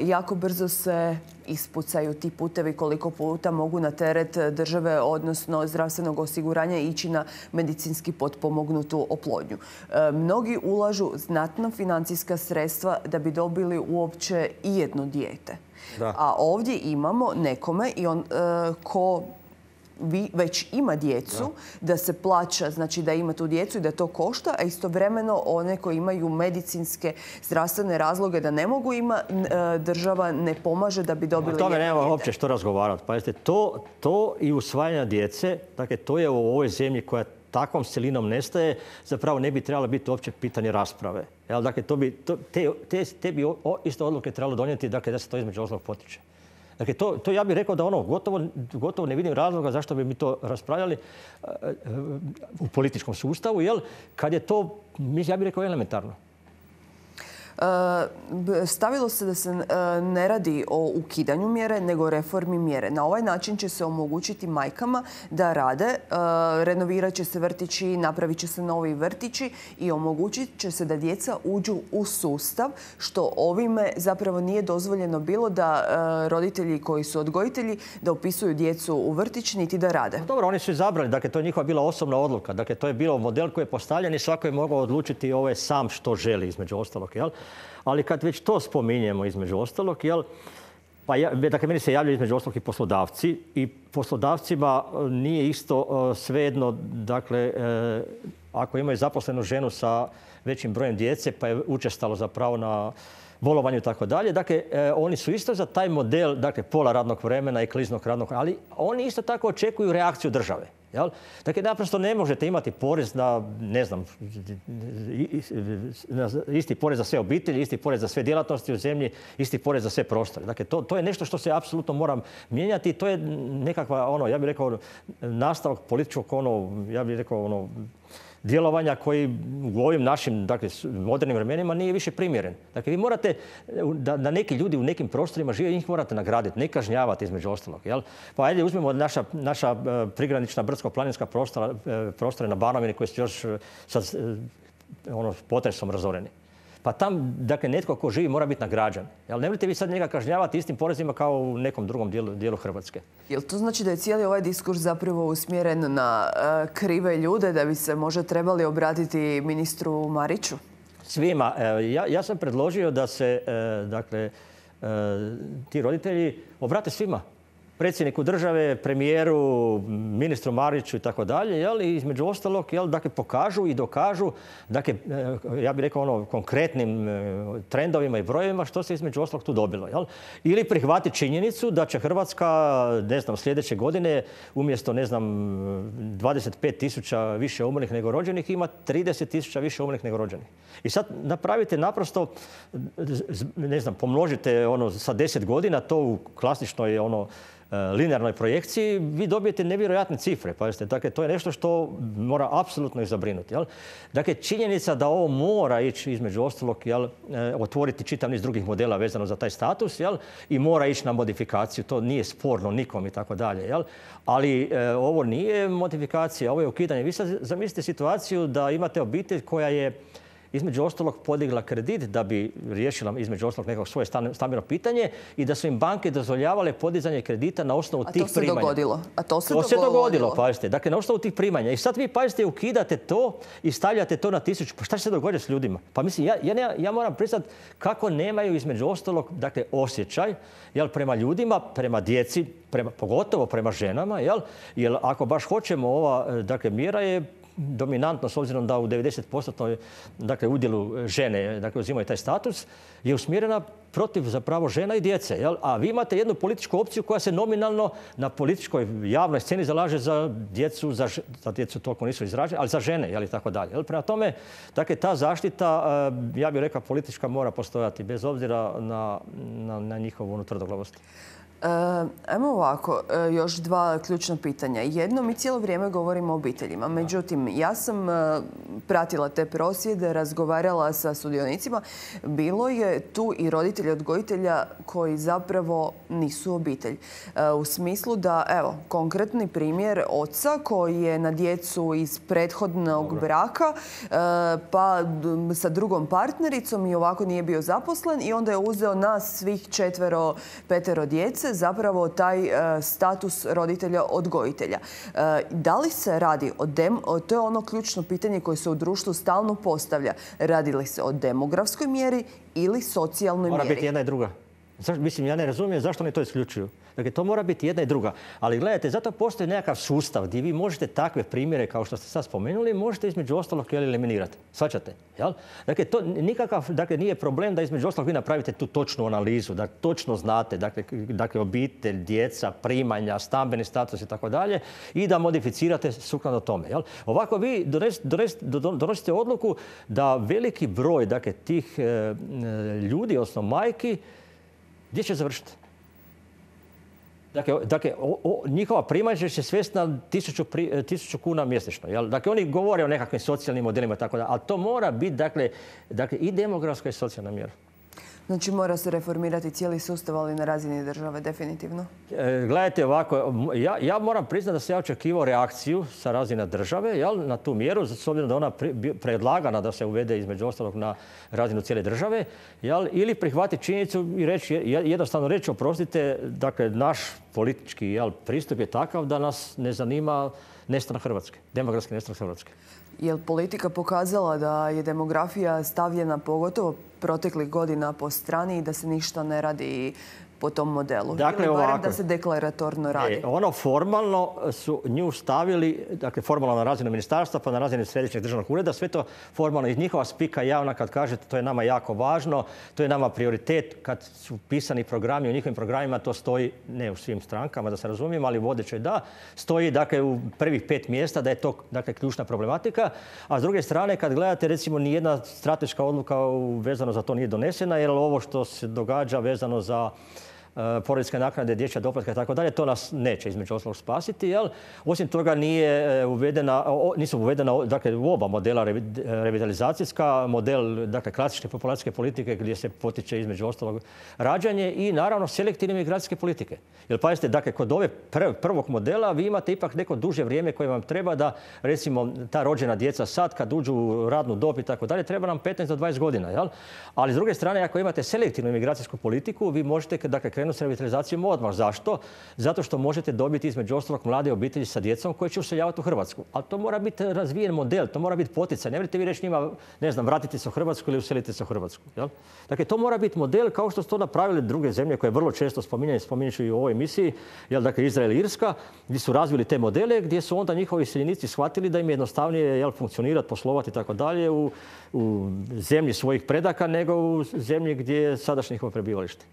Jako brzo se ispucaju ti putevi koliko puta mogu na teret države, odnosno zdravstvenog osiguranja ići na medicinski potpomognutu oplodnju. Mnogi ulažu znatna financijska sredstva da bi dobili uopće i jedno dijete. Da. A ovdje imamo nekome i on, uh, ko vi, već ima djecu, da. da se plaća, znači da ima tu djecu i da to košta, a istovremeno one koji imaju medicinske zdravstvene razloge da ne mogu ima, uh, država ne pomaže da bi dobili jedno dijete. O tome nema uopće što razgovarati. Pazite, to, to i usvajanje djece, dakle, to je u ovoj zemlji koja takvom silinom nestaje, zapravo ne bi trebalo biti uopće pitanje rasprave. Jel, dakle, to bi, to, te, te, te bi o, isto odluke trebalo donijeti, dakle, da se to između ostalog potiče. Dakle, to, to ja bih rekao da ono, gotovo, gotovo ne vidim razloga zašto bi mi to raspravljali uh, uh, u političkom sustavu, jel, kad je to, ja bih rekao, elementarno. Stavilo se da se ne radi o ukidanju mjere, nego o reformi mjere. Na ovaj način će se omogućiti majkama da rade, renovirat će se vrtići, napravit će se novi vrtići i omogućit će se da djeca uđu u sustav, što ovime zapravo nije dozvoljeno bilo da roditelji koji su odgojitelji da upisuju djecu u vrtić niti da rade. Dobro, oni su izabrali, dakle to je njihova bila osobna odluka. Dakle, to je bilo model koji je postavljen i svako je mogao odlučiti ovaj sam što želi između ostalog, jel? Ali kad već to spominjemo između ostalog, jel, Pa ja, dakle, meni se javljaju između ostalog i poslodavci i poslodavcima nije isto svejedno, dakle, ako imaju zaposlenu ženu sa većim brojem djece, pa je učestalo zapravo na bolovanju i tako dalje. Dakle, oni su isto za taj model, dakle, pola radnog vremena i kliznog radnog, ali oni isto tako očekuju reakciju države. Jel? Dakle, naprosto ne možete imati porez na, ne znam, isti porez za sve obitelji, isti porez za sve djelatnosti u zemlji, isti porez za sve prostore. Dakle, to, to je nešto što se apsolutno mora mijenjati. To je nekakva, ono, ja bih rekao, nastavak političkog, ono, ja bih rekao, ono, djelovanja koji u ovim našim, dakle, modernim vremenima nije više primjeren. Dakle, vi morate, da, da neki ljudi u nekim prostorima žive, njih morate nagraditi, ne kažnjavati između ostalog. Jel? Pa ajde uzmemo naša, naša prigranična brdsko-planinska prostora, prostore na Banovini koji su još sad ono, potresom razoreni. Pa tam, dakle, netko ko živi mora biti nagrađen. Jel, ne volite vi sad njega kažnjavati istim porezima kao u nekom drugom dijelu, dijelu Hrvatske. Jel to znači da je cijeli ovaj diskurs zapravo usmjeren na uh, krive ljude, da bi se možda trebali obratiti ministru Mariću? Svima. Ja, ja sam predložio da se, dakle, ti roditelji obrate svima. Predsjedniku države, premijeru, ministru Mariću i tako dalje, jel, i između ostalog, jel, dakle, pokažu i dokažu, dakle, ja bih rekao ono, konkretnim trendovima i brojevima što se između ostalog tu dobilo, jel. Ili prihvati činjenicu da će Hrvatska, ne znam, sljedeće godine umjesto, ne znam, dvadeset pet tisuća više umrlih nego rođenih ima trideset tisuća više umrlih nego rođenih. I sad napravite naprosto, ne znam, pomnožite ono sa deset godina, to u klasičnoj ono linearnoj projekciji, vi dobijete nevjerojatne cifre. Pazite, dakle, to je nešto što mora apsolutno ih zabrinuti. Jel? Dakle, činjenica da ovo mora ići između ostalog, jel, otvoriti čitav niz drugih modela vezano za taj status, jel, i mora ići na modifikaciju. To nije sporno nikom i tako dalje. Jel? Ali e, ovo nije modifikacija, ovo je ukidanje. Vi sad zamislite situaciju da imate obitelj koja je između ostalog podigla kredit da bi riješila između ostalog nekog svoje stambeno pitanje i da su im banke dozvoljavale podizanje kredita na osnovu tih primanja. A to se dogodilo. A to se to dogodilo. se dogodilo, pazite. Dakle, na osnovu tih primanja. I sad vi, pazite, ukidate to i stavljate to na tisuću. Pa šta će se dogoditi s ljudima? Pa mislim, ja, ja, ja moram priznati kako nemaju između ostalog, dakle, osjećaj, jel, prema ljudima, prema djeci, prema, pogotovo prema ženama, jel? Jer ako baš hoćemo, ova, dakle, mjera je dominantno, s obzirom da u devedeset posto dakle, udjelu žene, dakle, uzimaju taj status, je usmjerena protiv zapravo žena i djece. Jel? A vi imate jednu političku opciju koja se nominalno na političkoj javnoj sceni zalaže za djecu, za, za djecu toliko nisu izražene, ali za žene, jel, i tako dalje. Jel? Prema tome, dakle, ta zaštita, ja bih rekao, politička mora postojati, bez obzira na, na, na njihovu unutardoglavost. E, ajmo ovako, e, još dva ključna pitanja. Jedno, mi cijelo vrijeme govorimo o obiteljima. Međutim, ja sam e, pratila te prosvjede, razgovarala sa sudionicima. Bilo je tu i roditelji odgojitelja koji zapravo nisu obitelj. E, u smislu da, evo, konkretni primjer oca koji je na djecu iz prethodnog Dobre. braka, e, pa sa drugom partnericom i ovako nije bio zaposlen i onda je uzeo nas svih četvero, petero djece, zapravo taj e, status roditelja odgojitelja. E, da li se radi o, dem, o to je ono ključno pitanje koje se u društvu stalno postavlja. Radi li se o demografskoj mjeri ili socijalnoj Mora mjeri? Mora biti jedna i druga. Zašto, mislim, ja ne razumijem zašto oni to isključuju. Dakle, to mora biti jedna i druga. Ali gledajte, zato postoji nekakav sustav gdje vi možete takve primjere, kao što ste sad spomenuli, možete između ostalog eliminirati. Svaćate? Jel? Dakle, to nikakav, dakle, nije problem da između ostalog vi napravite tu točnu analizu, da točno znate, dakle, dakle obitelj, djeca, primanja, stambeni status i tako dalje i da modificirate sukladno tome. Jel? Ovako vi donesite, donesite, donosite odluku da veliki broj, dakle, tih e, ljudi, odnosno majki, gdje će završiti? Dakle, dakle o, o, njihova primanja će se svesti na tisuću, pri, tisuću kuna mjesečno. Jel? Dakle, oni govore o nekakvim socijalnim modelima i tako da, ali to mora biti, dakle, dakle, i demografska i socijalna mjera. Znači mora se reformirati cijeli sustav, ali na razini države, definitivno. E, gledajte ovako, ja, ja moram priznati da sam ja očekivao reakciju sa razine države, jel, na tu mjeru, s obzirom da ona predlagana da se uvede između ostalog na razinu cijele države, jel, ili prihvatiti činjenicu i reći, jednostavno reći, oprostite, dakle, naš politički, jel, pristup je takav da nas ne zanima nestanak Hrvatske, demografski nestanak Hrvatske. Je li politika pokazala da je demografija stavljena pogotovo proteklih godina po strani i da se ništa ne radi po tom modelu? Dakle, ili barem ovako, da se deklaratorno radi? E, ono formalno su nju stavili, dakle formalno na razinu ministarstva pa na razinu središnjeg državnog ureda, sve to formalno iz njihova spika javna kad kažete to je nama jako važno, to je nama prioritet. Kad su pisani programi, u njihovim programima to stoji, ne u svim strankama da se razumijemo, ali vodećoj da, stoji dakle u prvih pet mjesta da je to dakle ključna problematika. A s druge strane kad gledate recimo nijedna strateška odluka vezano za to nije donesena, jer ovo što se događa vezano za porodiljske naknade, dječja doplatka i tako dalje, to nas neće između ostalog spasiti. Jel? Osim toga nije uvedena, nisu uvedena dakle, u oba modela revitalizacijska, model dakle, klasične populacijske politike gdje se potiče između ostalog rađanje i naravno selektivne migracijske politike. Jer pazite, dakle, kod ove prvog modela vi imate ipak neko duže vrijeme koje vam treba da recimo ta rođena djeca sad kad uđu u radnu dob i tako dalje, treba nam petnaest do dvadeset godina. Jel? Ali s druge strane, ako imate selektivnu migracijsku politiku, vi možete dakle, krenuti s revitalizacijom odmah. Zašto? Zato što možete dobiti između ostalog mlade obitelji sa djecom koje će useljavati u Hrvatsku. Ali to mora biti razvijen model, to mora biti poticaj. Ne možete vi reći njima, ne znam, vratite se u Hrvatsku ili uselite se u Hrvatsku. Jel? Dakle, to mora biti model kao što su to napravili druge zemlje koje vrlo često spominjaju, spominjući i u ovoj emisiji, jel, dakle, Izrael i Irska, gdje su razvili te modele, gdje su onda njihovi iseljenici shvatili da im je jednostavnije jel, funkcionirati, poslovati i tako dalje u, u zemlji svojih predaka nego u zemlji gdje je sadašnje njihovo prebivalište.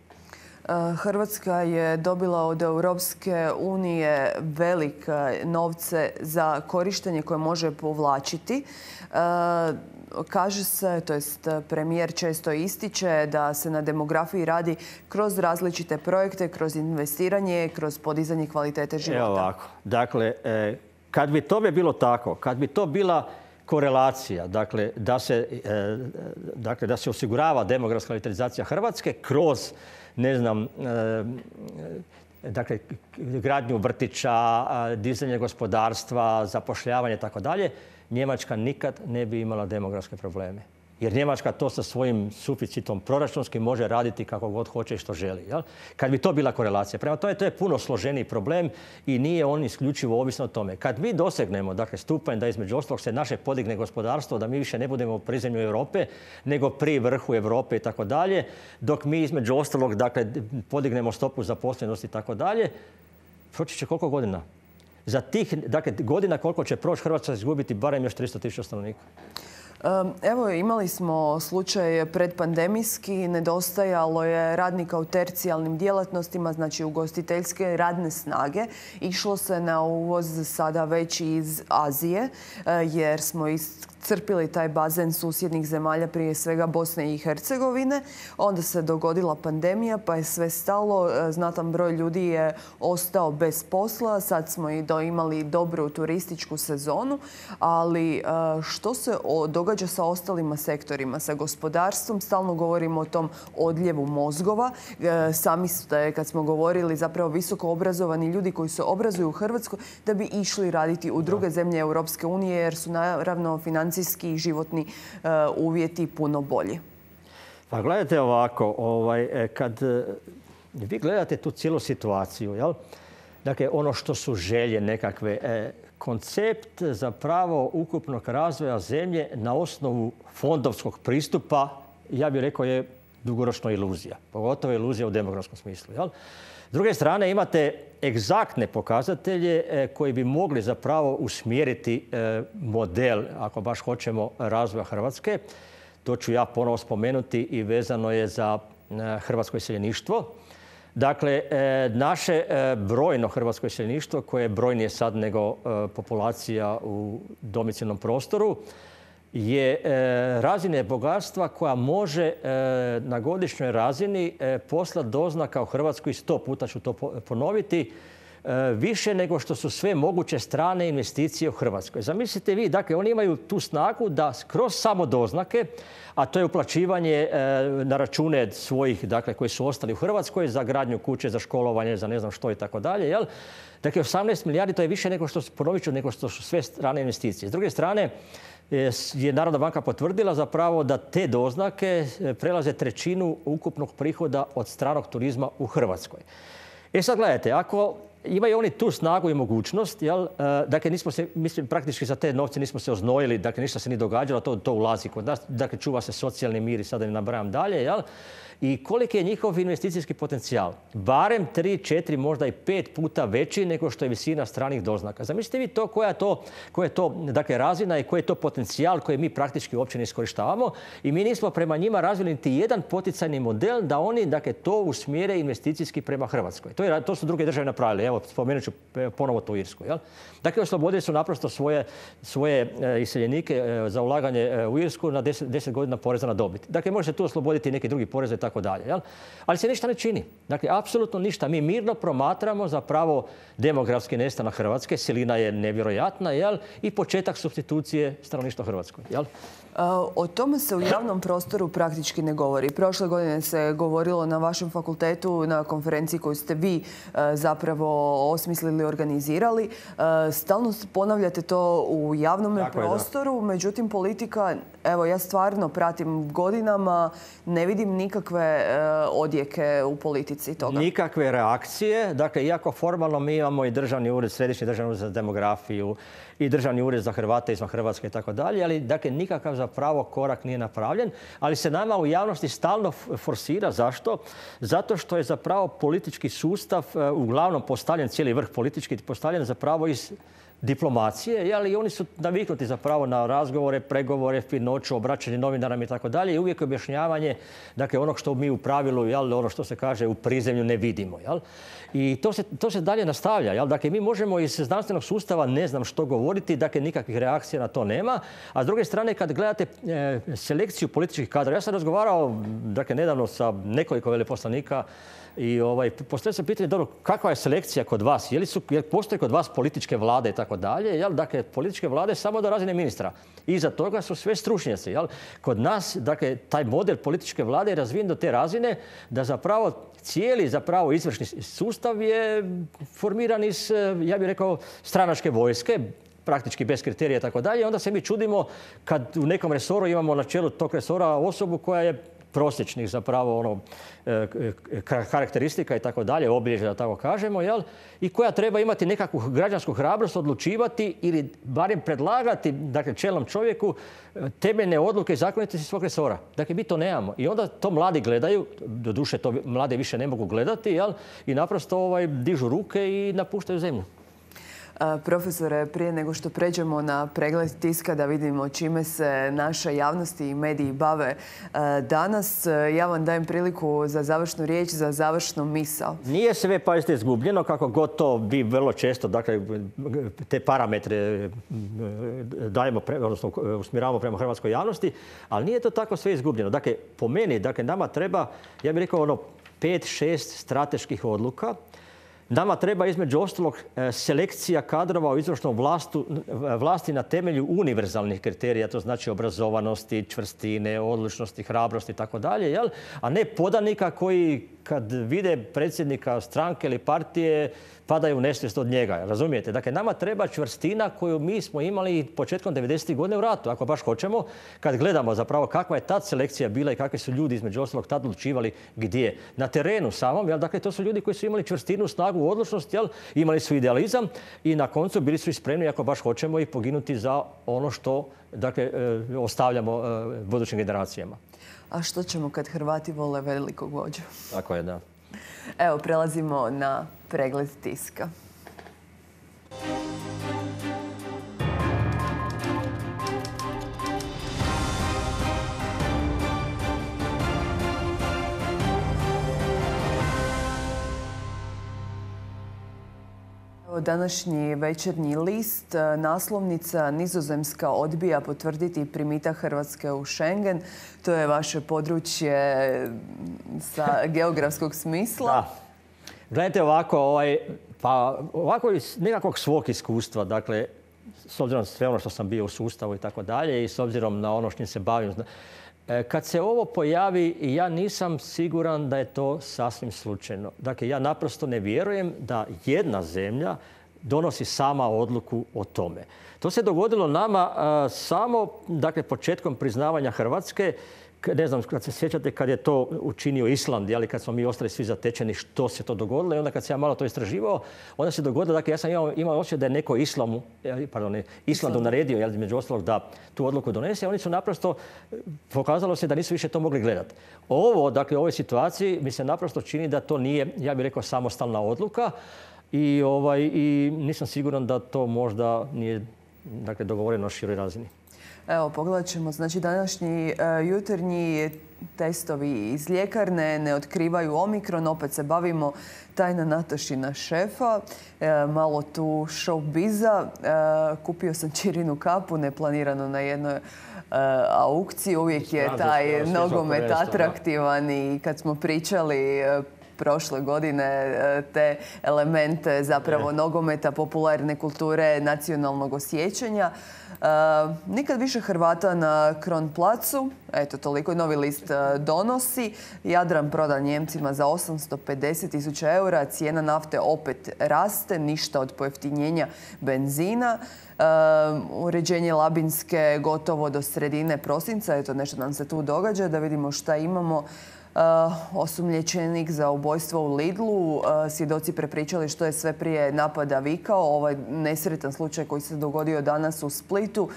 Hrvatska je dobila od Europske unije velike novce za korištenje koje može povlačiti. Kaže se, to jest premijer često ističe da se na demografiji radi kroz različite projekte, kroz investiranje, kroz podizanje kvalitete života. Evo ovako. Dakle, kad bi to bi bilo tako, kad bi to bila korelacija, dakle da se, dakle, da se osigurava demografska revitalizacija Hrvatske kroz ne znam, dakle, gradnju vrtića, dizanje gospodarstva, zapošljavanje i tako dalje, Njemačka nikad ne bi imala demografske probleme. Jer Njemačka to sa svojim suficitom proračunskim može raditi kako god hoće i što želi. Jel? Kad bi to bila korelacija. Prema tome, to je puno složeniji problem i nije on isključivo ovisno o tome. Kad mi dosegnemo dakle, stupanj da između ostalog se naše podigne gospodarstvo, da mi više ne budemo pri zemlju Europe, nego pri vrhu Europe i tako dalje, dok mi između ostalog dakle, podignemo stopu zaposlenosti i tako dalje, proći će koliko godina? Za tih dakle, godina koliko će proći Hrvatska izgubiti barem još tristo tisuća stanovnika. Evo, imali smo slučaj predpandemijski, nedostajalo je radnika u tercijalnim djelatnostima, znači ugostiteljske radne snage. Išlo se na uvoz sada već iz Azije, jer smo iscrpili taj bazen susjednih zemalja, prije svega Bosne i Hercegovine. Onda se dogodila pandemija, pa je sve stalo. Znatan broj ljudi je ostao bez posla. Sad smo i imali dobru turističku sezonu. Ali što se događa sa ostalima sektorima, sa gospodarstvom? Stalno govorimo o tom odljevu mozgova. Sami ste, kad smo govorili, zapravo visoko obrazovani ljudi koji se obrazuju u Hrvatskoj da bi išli raditi u druge zemlje Europske unije, jer su naravno financijski i životni uvjeti puno bolji. Pa gledajte ovako, ovaj, kad vi gledate tu cijelu situaciju, jel? Dakle, ono što su želje nekakve, e, koncept zapravo ukupnog razvoja zemlje na osnovu fondovskog pristupa, ja bih rekao, je dugoročno iluzija. Pogotovo iluzija u demografskom smislu. Jel? S druge strane, imate egzaktne pokazatelje e, koji bi mogli zapravo usmjeriti e, model, ako baš hoćemo, razvoja Hrvatske. To ću ja ponovo spomenuti i vezano je za e, hrvatsko iseljeništvo. Dakle, naše brojno hrvatsko iseljeništvo, koje je brojnije sad nego populacija u domicilnom prostoru, je razine bogatstva koja može na godišnjoj razini poslati doznaka u Hrvatskoj, sto puta ću to ponoviti, više nego što su sve moguće strane investicije u Hrvatskoj. Zamislite vi, dakle, oni imaju tu snagu da kroz samo doznake, a to je uplaćivanje na račune svojih, dakle, koji su ostali u Hrvatskoj za gradnju kuće, za školovanje, za ne znam što i tako dalje, jel? Dakle, osamnaest milijardi, to je više nego što, ponovit ću, nego što su sve strane investicije. S druge strane, je Narodna banka potvrdila zapravo da te doznake prelaze trećinu ukupnog prihoda od stranog turizma u Hrvatskoj. E sad gledajte, ako imaju oni tu snagu i mogućnost, jel? Dakle, nismo se, mislim, praktički za te novce nismo se oznojili, dakle, ništa se nije događalo, to, to ulazi kod nas, dakle, čuva se socijalni mir i sada ne nabrajam dalje, jel? I koliki je njihov investicijski potencijal? Barem tri, četiri, možda i pet puta veći nego što je visina stranih doznaka. Zamislite vi to koja je to, koja je to dakle, razina i koji je to potencijal koji mi praktički uopće ne iskorištavamo i mi nismo prema njima razvili niti jedan poticajni model da oni dakle, to usmjere investicijski prema Hrvatskoj. To, je, to su druge države napravili. Evo, spomenut ću ponovo to Irsku. Jel? Dakle, oslobodili su naprosto svoje, svoje iseljenike za ulaganje u Irsku na deset, deset godina poreza na dobit. Dakle, može se tu osloboditi neki drugi porez i tako dalje. Jel? Ali se ništa ne čini. Dakle, apsolutno ništa. Mi mirno promatramo zapravo demografski nestanak Hrvatske. Silina je nevjerojatna, jel? I početak supstitucije stanovništva Hrvatskoj. Jel? O tome se u javnom prostoru praktički ne govori. Prošle godine se govorilo na vašem fakultetu na konferenciji koju ste vi zapravo osmislili, organizirali. Stalno ponavljate to u javnom prostoru, međutim politika, evo ja stvarno pratim godinama, ne vidim nikakve odjeke u politici toga. Nikakve reakcije. Dakle, iako formalno mi imamo i državni ured, središnji državni ured za demografiju i državni ured za Hrvate izvan Hrvatske i tako dalje, ali dakle nikakav zapravo korak nije napravljen, ali se nama u javnosti stalno forsira. Zašto? Zato što je zapravo politički sustav uglavnom postavljen, cijeli vrh politički postavljen zapravo iz diplomacije, ali oni su naviknuti zapravo na razgovore, pregovore, finoću, obraćanje novinarama i tako dalje i uvijek objašnjavanje dakle, onog što mi u pravilu, jel, ono što se kaže u prizemlju ne vidimo. Jel? I to se, to se dalje nastavlja. Jel? Dakle, mi možemo iz znanstvenog sustava ne znam što govoriti, dakle nikakvih reakcija na to nema. A s druge strane, kad gledate e, selekciju političkih kadrova, ja sam razgovarao dakle, nedavno sa nekoliko veleposlanika i ovaj, postavlja se pitanje, dobro, kakva je selekcija kod vas? Je li su, jer postoje kod vas političke vlade i tako dalje? Jel? Dakle, političke vlade samo do razine ministra. Iza toga su sve stručnjaci. Jel? Kod nas, dakle, taj model političke vlade je razvijen do te razine da zapravo cijeli zapravo izvršni sustav je formiran iz, ja bih rekao, stranačke vojske, praktički bez kriterija i tako dalje. Onda se mi čudimo kad u nekom resoru imamo na čelu tog resora osobu koja je prosječnih zapravo ono, karakteristika i tako dalje, obilježja da tako kažemo, jel? I koja treba imati nekakvu građansku hrabrost odlučivati ili barem predlagati dakle, čelnom čovjeku temeljne odluke i zakonitosti svog resora. Dakle, mi to nemamo. I onda to mladi gledaju, doduše to mlade više ne mogu gledati, jel? I naprosto ovaj, dižu ruke i napuštaju zemlju. Profesore, prije nego što pređemo na pregled tiska da vidimo čime se naša javnost i mediji bave danas, ja vam dajem priliku za završnu riječ, za završnu misao. Nije sve, pazite, izgubljeno, kako god to bi vrlo često, dakle, te parametre dajemo, pre, odnosno usmjeravamo prema hrvatskoj javnosti, ali nije to tako sve izgubljeno. Dakle, po meni, dakle, nama treba, ja bih rekao, ono, pet, šest strateških odluka. Nama treba između ostalog selekcija kadrova u izvršnom vlastu, vlasti na temelju univerzalnih kriterija, to znači obrazovanosti, čvrstine, odlučnosti, hrabrosti i tako dalje, a ne podanika koji kad vide predsjednika stranke ili partije padaju u nesvijest od njega. Razumijete? Dakle, nama treba čvrstina koju mi smo imali početkom devedesetih godina u ratu, ako baš hoćemo, kad gledamo zapravo kakva je tad selekcija bila i kakvi su ljudi između ostalog tad odlučivali gdje. Na terenu samom, jel, dakle, to su ljudi koji su imali čvrstinu, snagu, odlučnost, jel, imali su idealizam i na koncu bili su i spremni, ako baš hoćemo, i poginuti za ono što dakle, ostavljamo budućim generacijama. A što ćemo kad Hrvati vole velikog vođu? Tako je, da. Evo, prelazimo na pregled tiska. Današnji Večernji list, naslovnica: Nizozemska odbija potvrditi primitak Hrvatske u Schengen. To je vaše područje sa geografskog smisla. Da. Gledajte ovako, ovaj, pa ovako iz nekakvog svog iskustva, dakle, s obzirom na sve ono što sam bio u sustavu i tako dalje i s obzirom na ono što se bavim, kad se ovo pojavi, ja nisam siguran da je to sasvim slučajno. Dakle, ja naprosto ne vjerujem da jedna zemlja donosi sama odluku o tome. To se dogodilo nama uh, samo dakle, početkom priznavanja Hrvatske, ne znam, kad se sjećate kad je to učinio Island, ali kad smo mi ostali svi zatečeni što se to dogodilo i onda kad se ja malo to istraživao, onda se dogodilo, dakle ja sam imao, imao osjećaj da je neko Islamu, pardon, ne, Islandu naredio, jel, među ostalog da tu odluku donese, oni su naprosto, pokazalo se da nisu više to mogli gledati. Ovo, dakle, u ovoj situaciji mi se naprosto čini da to nije, ja bih rekao, samostalna odluka i, ovaj, i nisam siguran da to možda nije, dakle, dogovoreno na široj razini. Evo, pogledat ćemo. Znači, današnji uh, jutarnji testovi iz ljekarne ne otkrivaju omikron. Opet se bavimo tajna Natašina šefa. E, malo tu showbiza. E, kupio sam Čirinu kapu, neplanirano na jednoj uh, aukciji. Uvijek je taj nogomet atraktivan i kad smo pričali uh, prošle godine te elemente zapravo nogometa, popularne kulture, nacionalnog osjećanja. Uh, nikad više Hrvata na Kronplacu. Eto, toliko novi list uh, donosi. Jadran prodan Njemcima za osamsto pedeset tisuća eura. Cijena nafte opet raste. Ništa od pojeftinjenja benzina. Uh, uređenje Labinske gotovo do sredine prosinca. Eto, nešto nam se tu događa. Da vidimo šta imamo. Uh, osumnjičenik za ubojstvo u Lidlu. Uh, svjedoci prepričali što je sve prije napada vikao. Ovaj nesretan slučaj koji se dogodio danas u Splitu. Uh,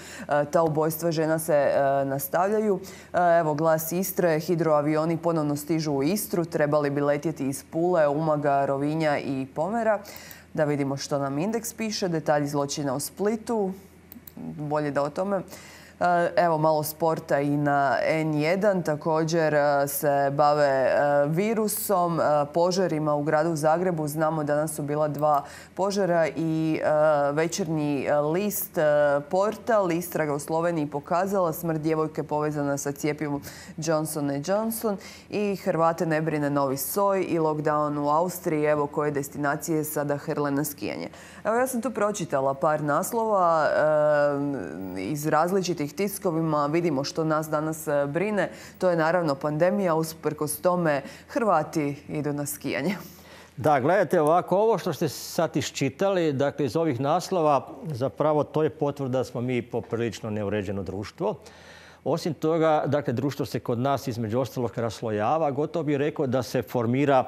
ta ubojstva žena se uh, nastavljaju. Uh, evo, glas Istre. Hidroavioni ponovno stižu u Istru. Trebali bi letjeti iz Pule, Umaga, Rovinja i Pomera. Da vidimo što nam indeks piše. Detalji zločina u Splitu. Bolje da o tome. Evo malo sporta i na en jedan. Također se bave virusom, požarima u gradu Zagrebu. Znamo da danas su bila dva požara i Večernji list portal istraga u Sloveniji pokazala smrt djevojke povezana sa cjepivom Johnson and Johnson i Hrvate ne brine novi soj i lockdown u Austriji. Evo koje destinacije sada hrle na skijanje. Evo ja sam tu pročitala par naslova iz različitih tiskovima. Vidimo što nas danas brine. To je naravno pandemija. Usprkos tome Hrvati idu na skijanje. Da, gledajte ovako, ovo što ste sad iščitali, dakle iz ovih naslova, zapravo to je potvrda da smo mi poprilično neuređeno društvo. Osim toga, dakle, društvo se kod nas između ostalog raslojava. Gotovo bih rekao da se formira,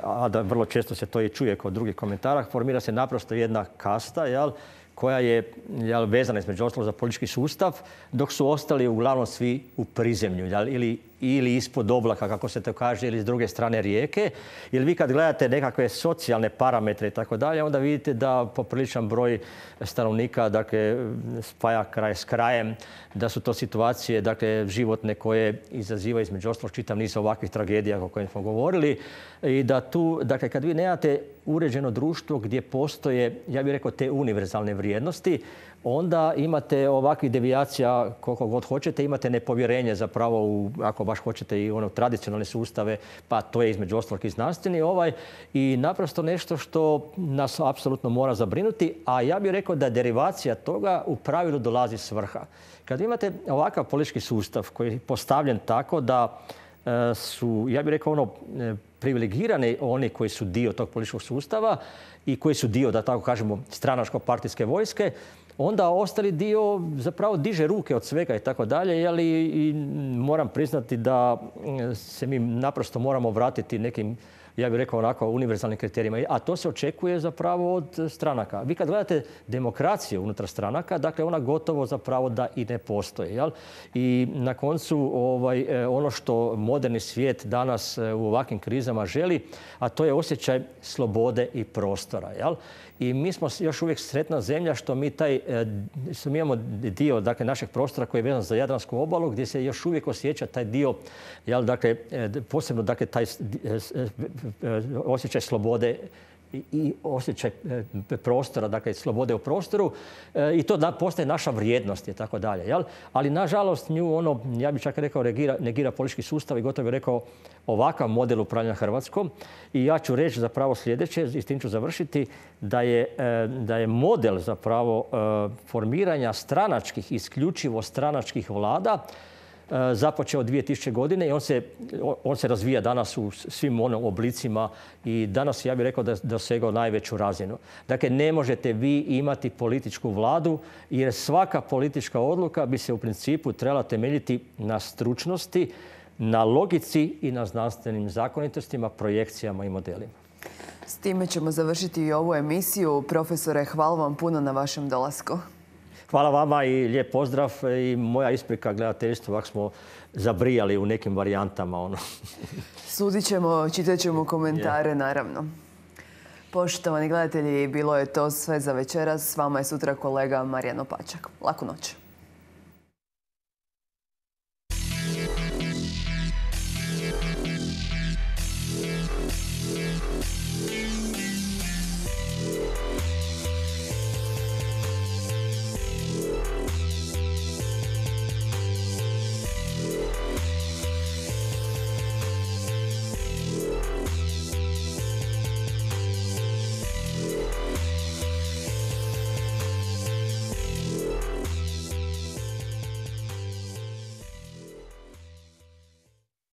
a da vrlo često se to i čuje kod drugih komentara, formira se naprosto jedna kasta, jel, koja je jel, vezana između ostalog za politički sustav, dok su ostali uglavnom svi u prizemlju, jel, ili, ili ispod oblaka, kako se to kaže, ili s druge strane rijeke. Jer vi kad gledate nekakve socijalne parametre i tako dalje, onda vidite da popriličan broj stanovnika, dakle, spaja kraj s krajem, da su to situacije, dakle, životne koje izazivaju između ostalog čitav niz ovakvih tragedija o kojima smo govorili. I da tu, dakle, kad vi nemate uređeno društvo gdje postoje, ja bih rekao, te univerzalne vrijednosti, onda imate ovakvih devijacija koliko god hoćete, imate nepovjerenje zapravo u, ako baš hoćete, i ono tradicionalne sustave, pa to je između ostalog i znanstveni ovaj, i naprosto nešto što nas apsolutno mora zabrinuti, a ja bih rekao da derivacija toga u pravilu dolazi s vrha. Kad imate ovakav politički sustav koji je postavljen tako da e, su, ja bih rekao, ono, e, privilegirani oni koji su dio tog političkog sustava i koji su dio, da tako kažemo, stranačko-partijske vojske, onda ostali dio zapravo diže ruke od svega i tako dalje. I moram priznati da se mi naprosto moramo vratiti nekim, ja bih rekao onako, univerzalnim kriterijima. A to se očekuje zapravo od stranaka. Vi kad gledate demokraciju unutar stranaka, dakle ona gotovo zapravo da i ne postoji. Jel? I na koncu ovaj, ono što moderni svijet danas u ovakvim krizama želi, a to je osjećaj slobode i prostora. Jel? I mi smo još uvijek sretna zemlja što mi taj, što mi imamo dio, dakle, našeg prostora koji je vezan za Jadransku obalu, gdje se još uvijek osjeća taj dio, jel, dakle, posebno, dakle, taj osjećaj slobode i osjećaj prostora, dakle slobode u prostoru, i to da postaje naša vrijednost i tako dalje. Jel? Ali nažalost nju ono, ja bih čak rekao, negira, negira politički sustav i gotovo bih rekao ovakav model upravljanja Hrvatskom. I ja ću reći zapravo sljedeće, i s tim ću završiti, da je, da je model zapravo formiranja stranačkih, isključivo stranačkih vlada započeo dvije tisuće godine i on se, on se razvija danas u svim onim oblicima i danas ja bih rekao da je dosegao najveću razinu. Dakle, ne možete vi imati političku vladu jer svaka politička odluka bi se u principu trebala temeljiti na stručnosti, na logici i na znanstvenim zakonitostima, projekcijama i modelima. S time ćemo završiti i ovu emisiju. Profesore, hvala vam puno na vašem dolasku. Hvala vama i lijep pozdrav i moja isprika gledateljstvu ako smo zabrijali u nekim varijantama. Ono. Sudit ćemo, čitat ćemo komentare, yeah. naravno. Poštovani gledatelji, bilo je to sve za večeras. S vama je sutra kolega Marijan Opačak. Laku noć.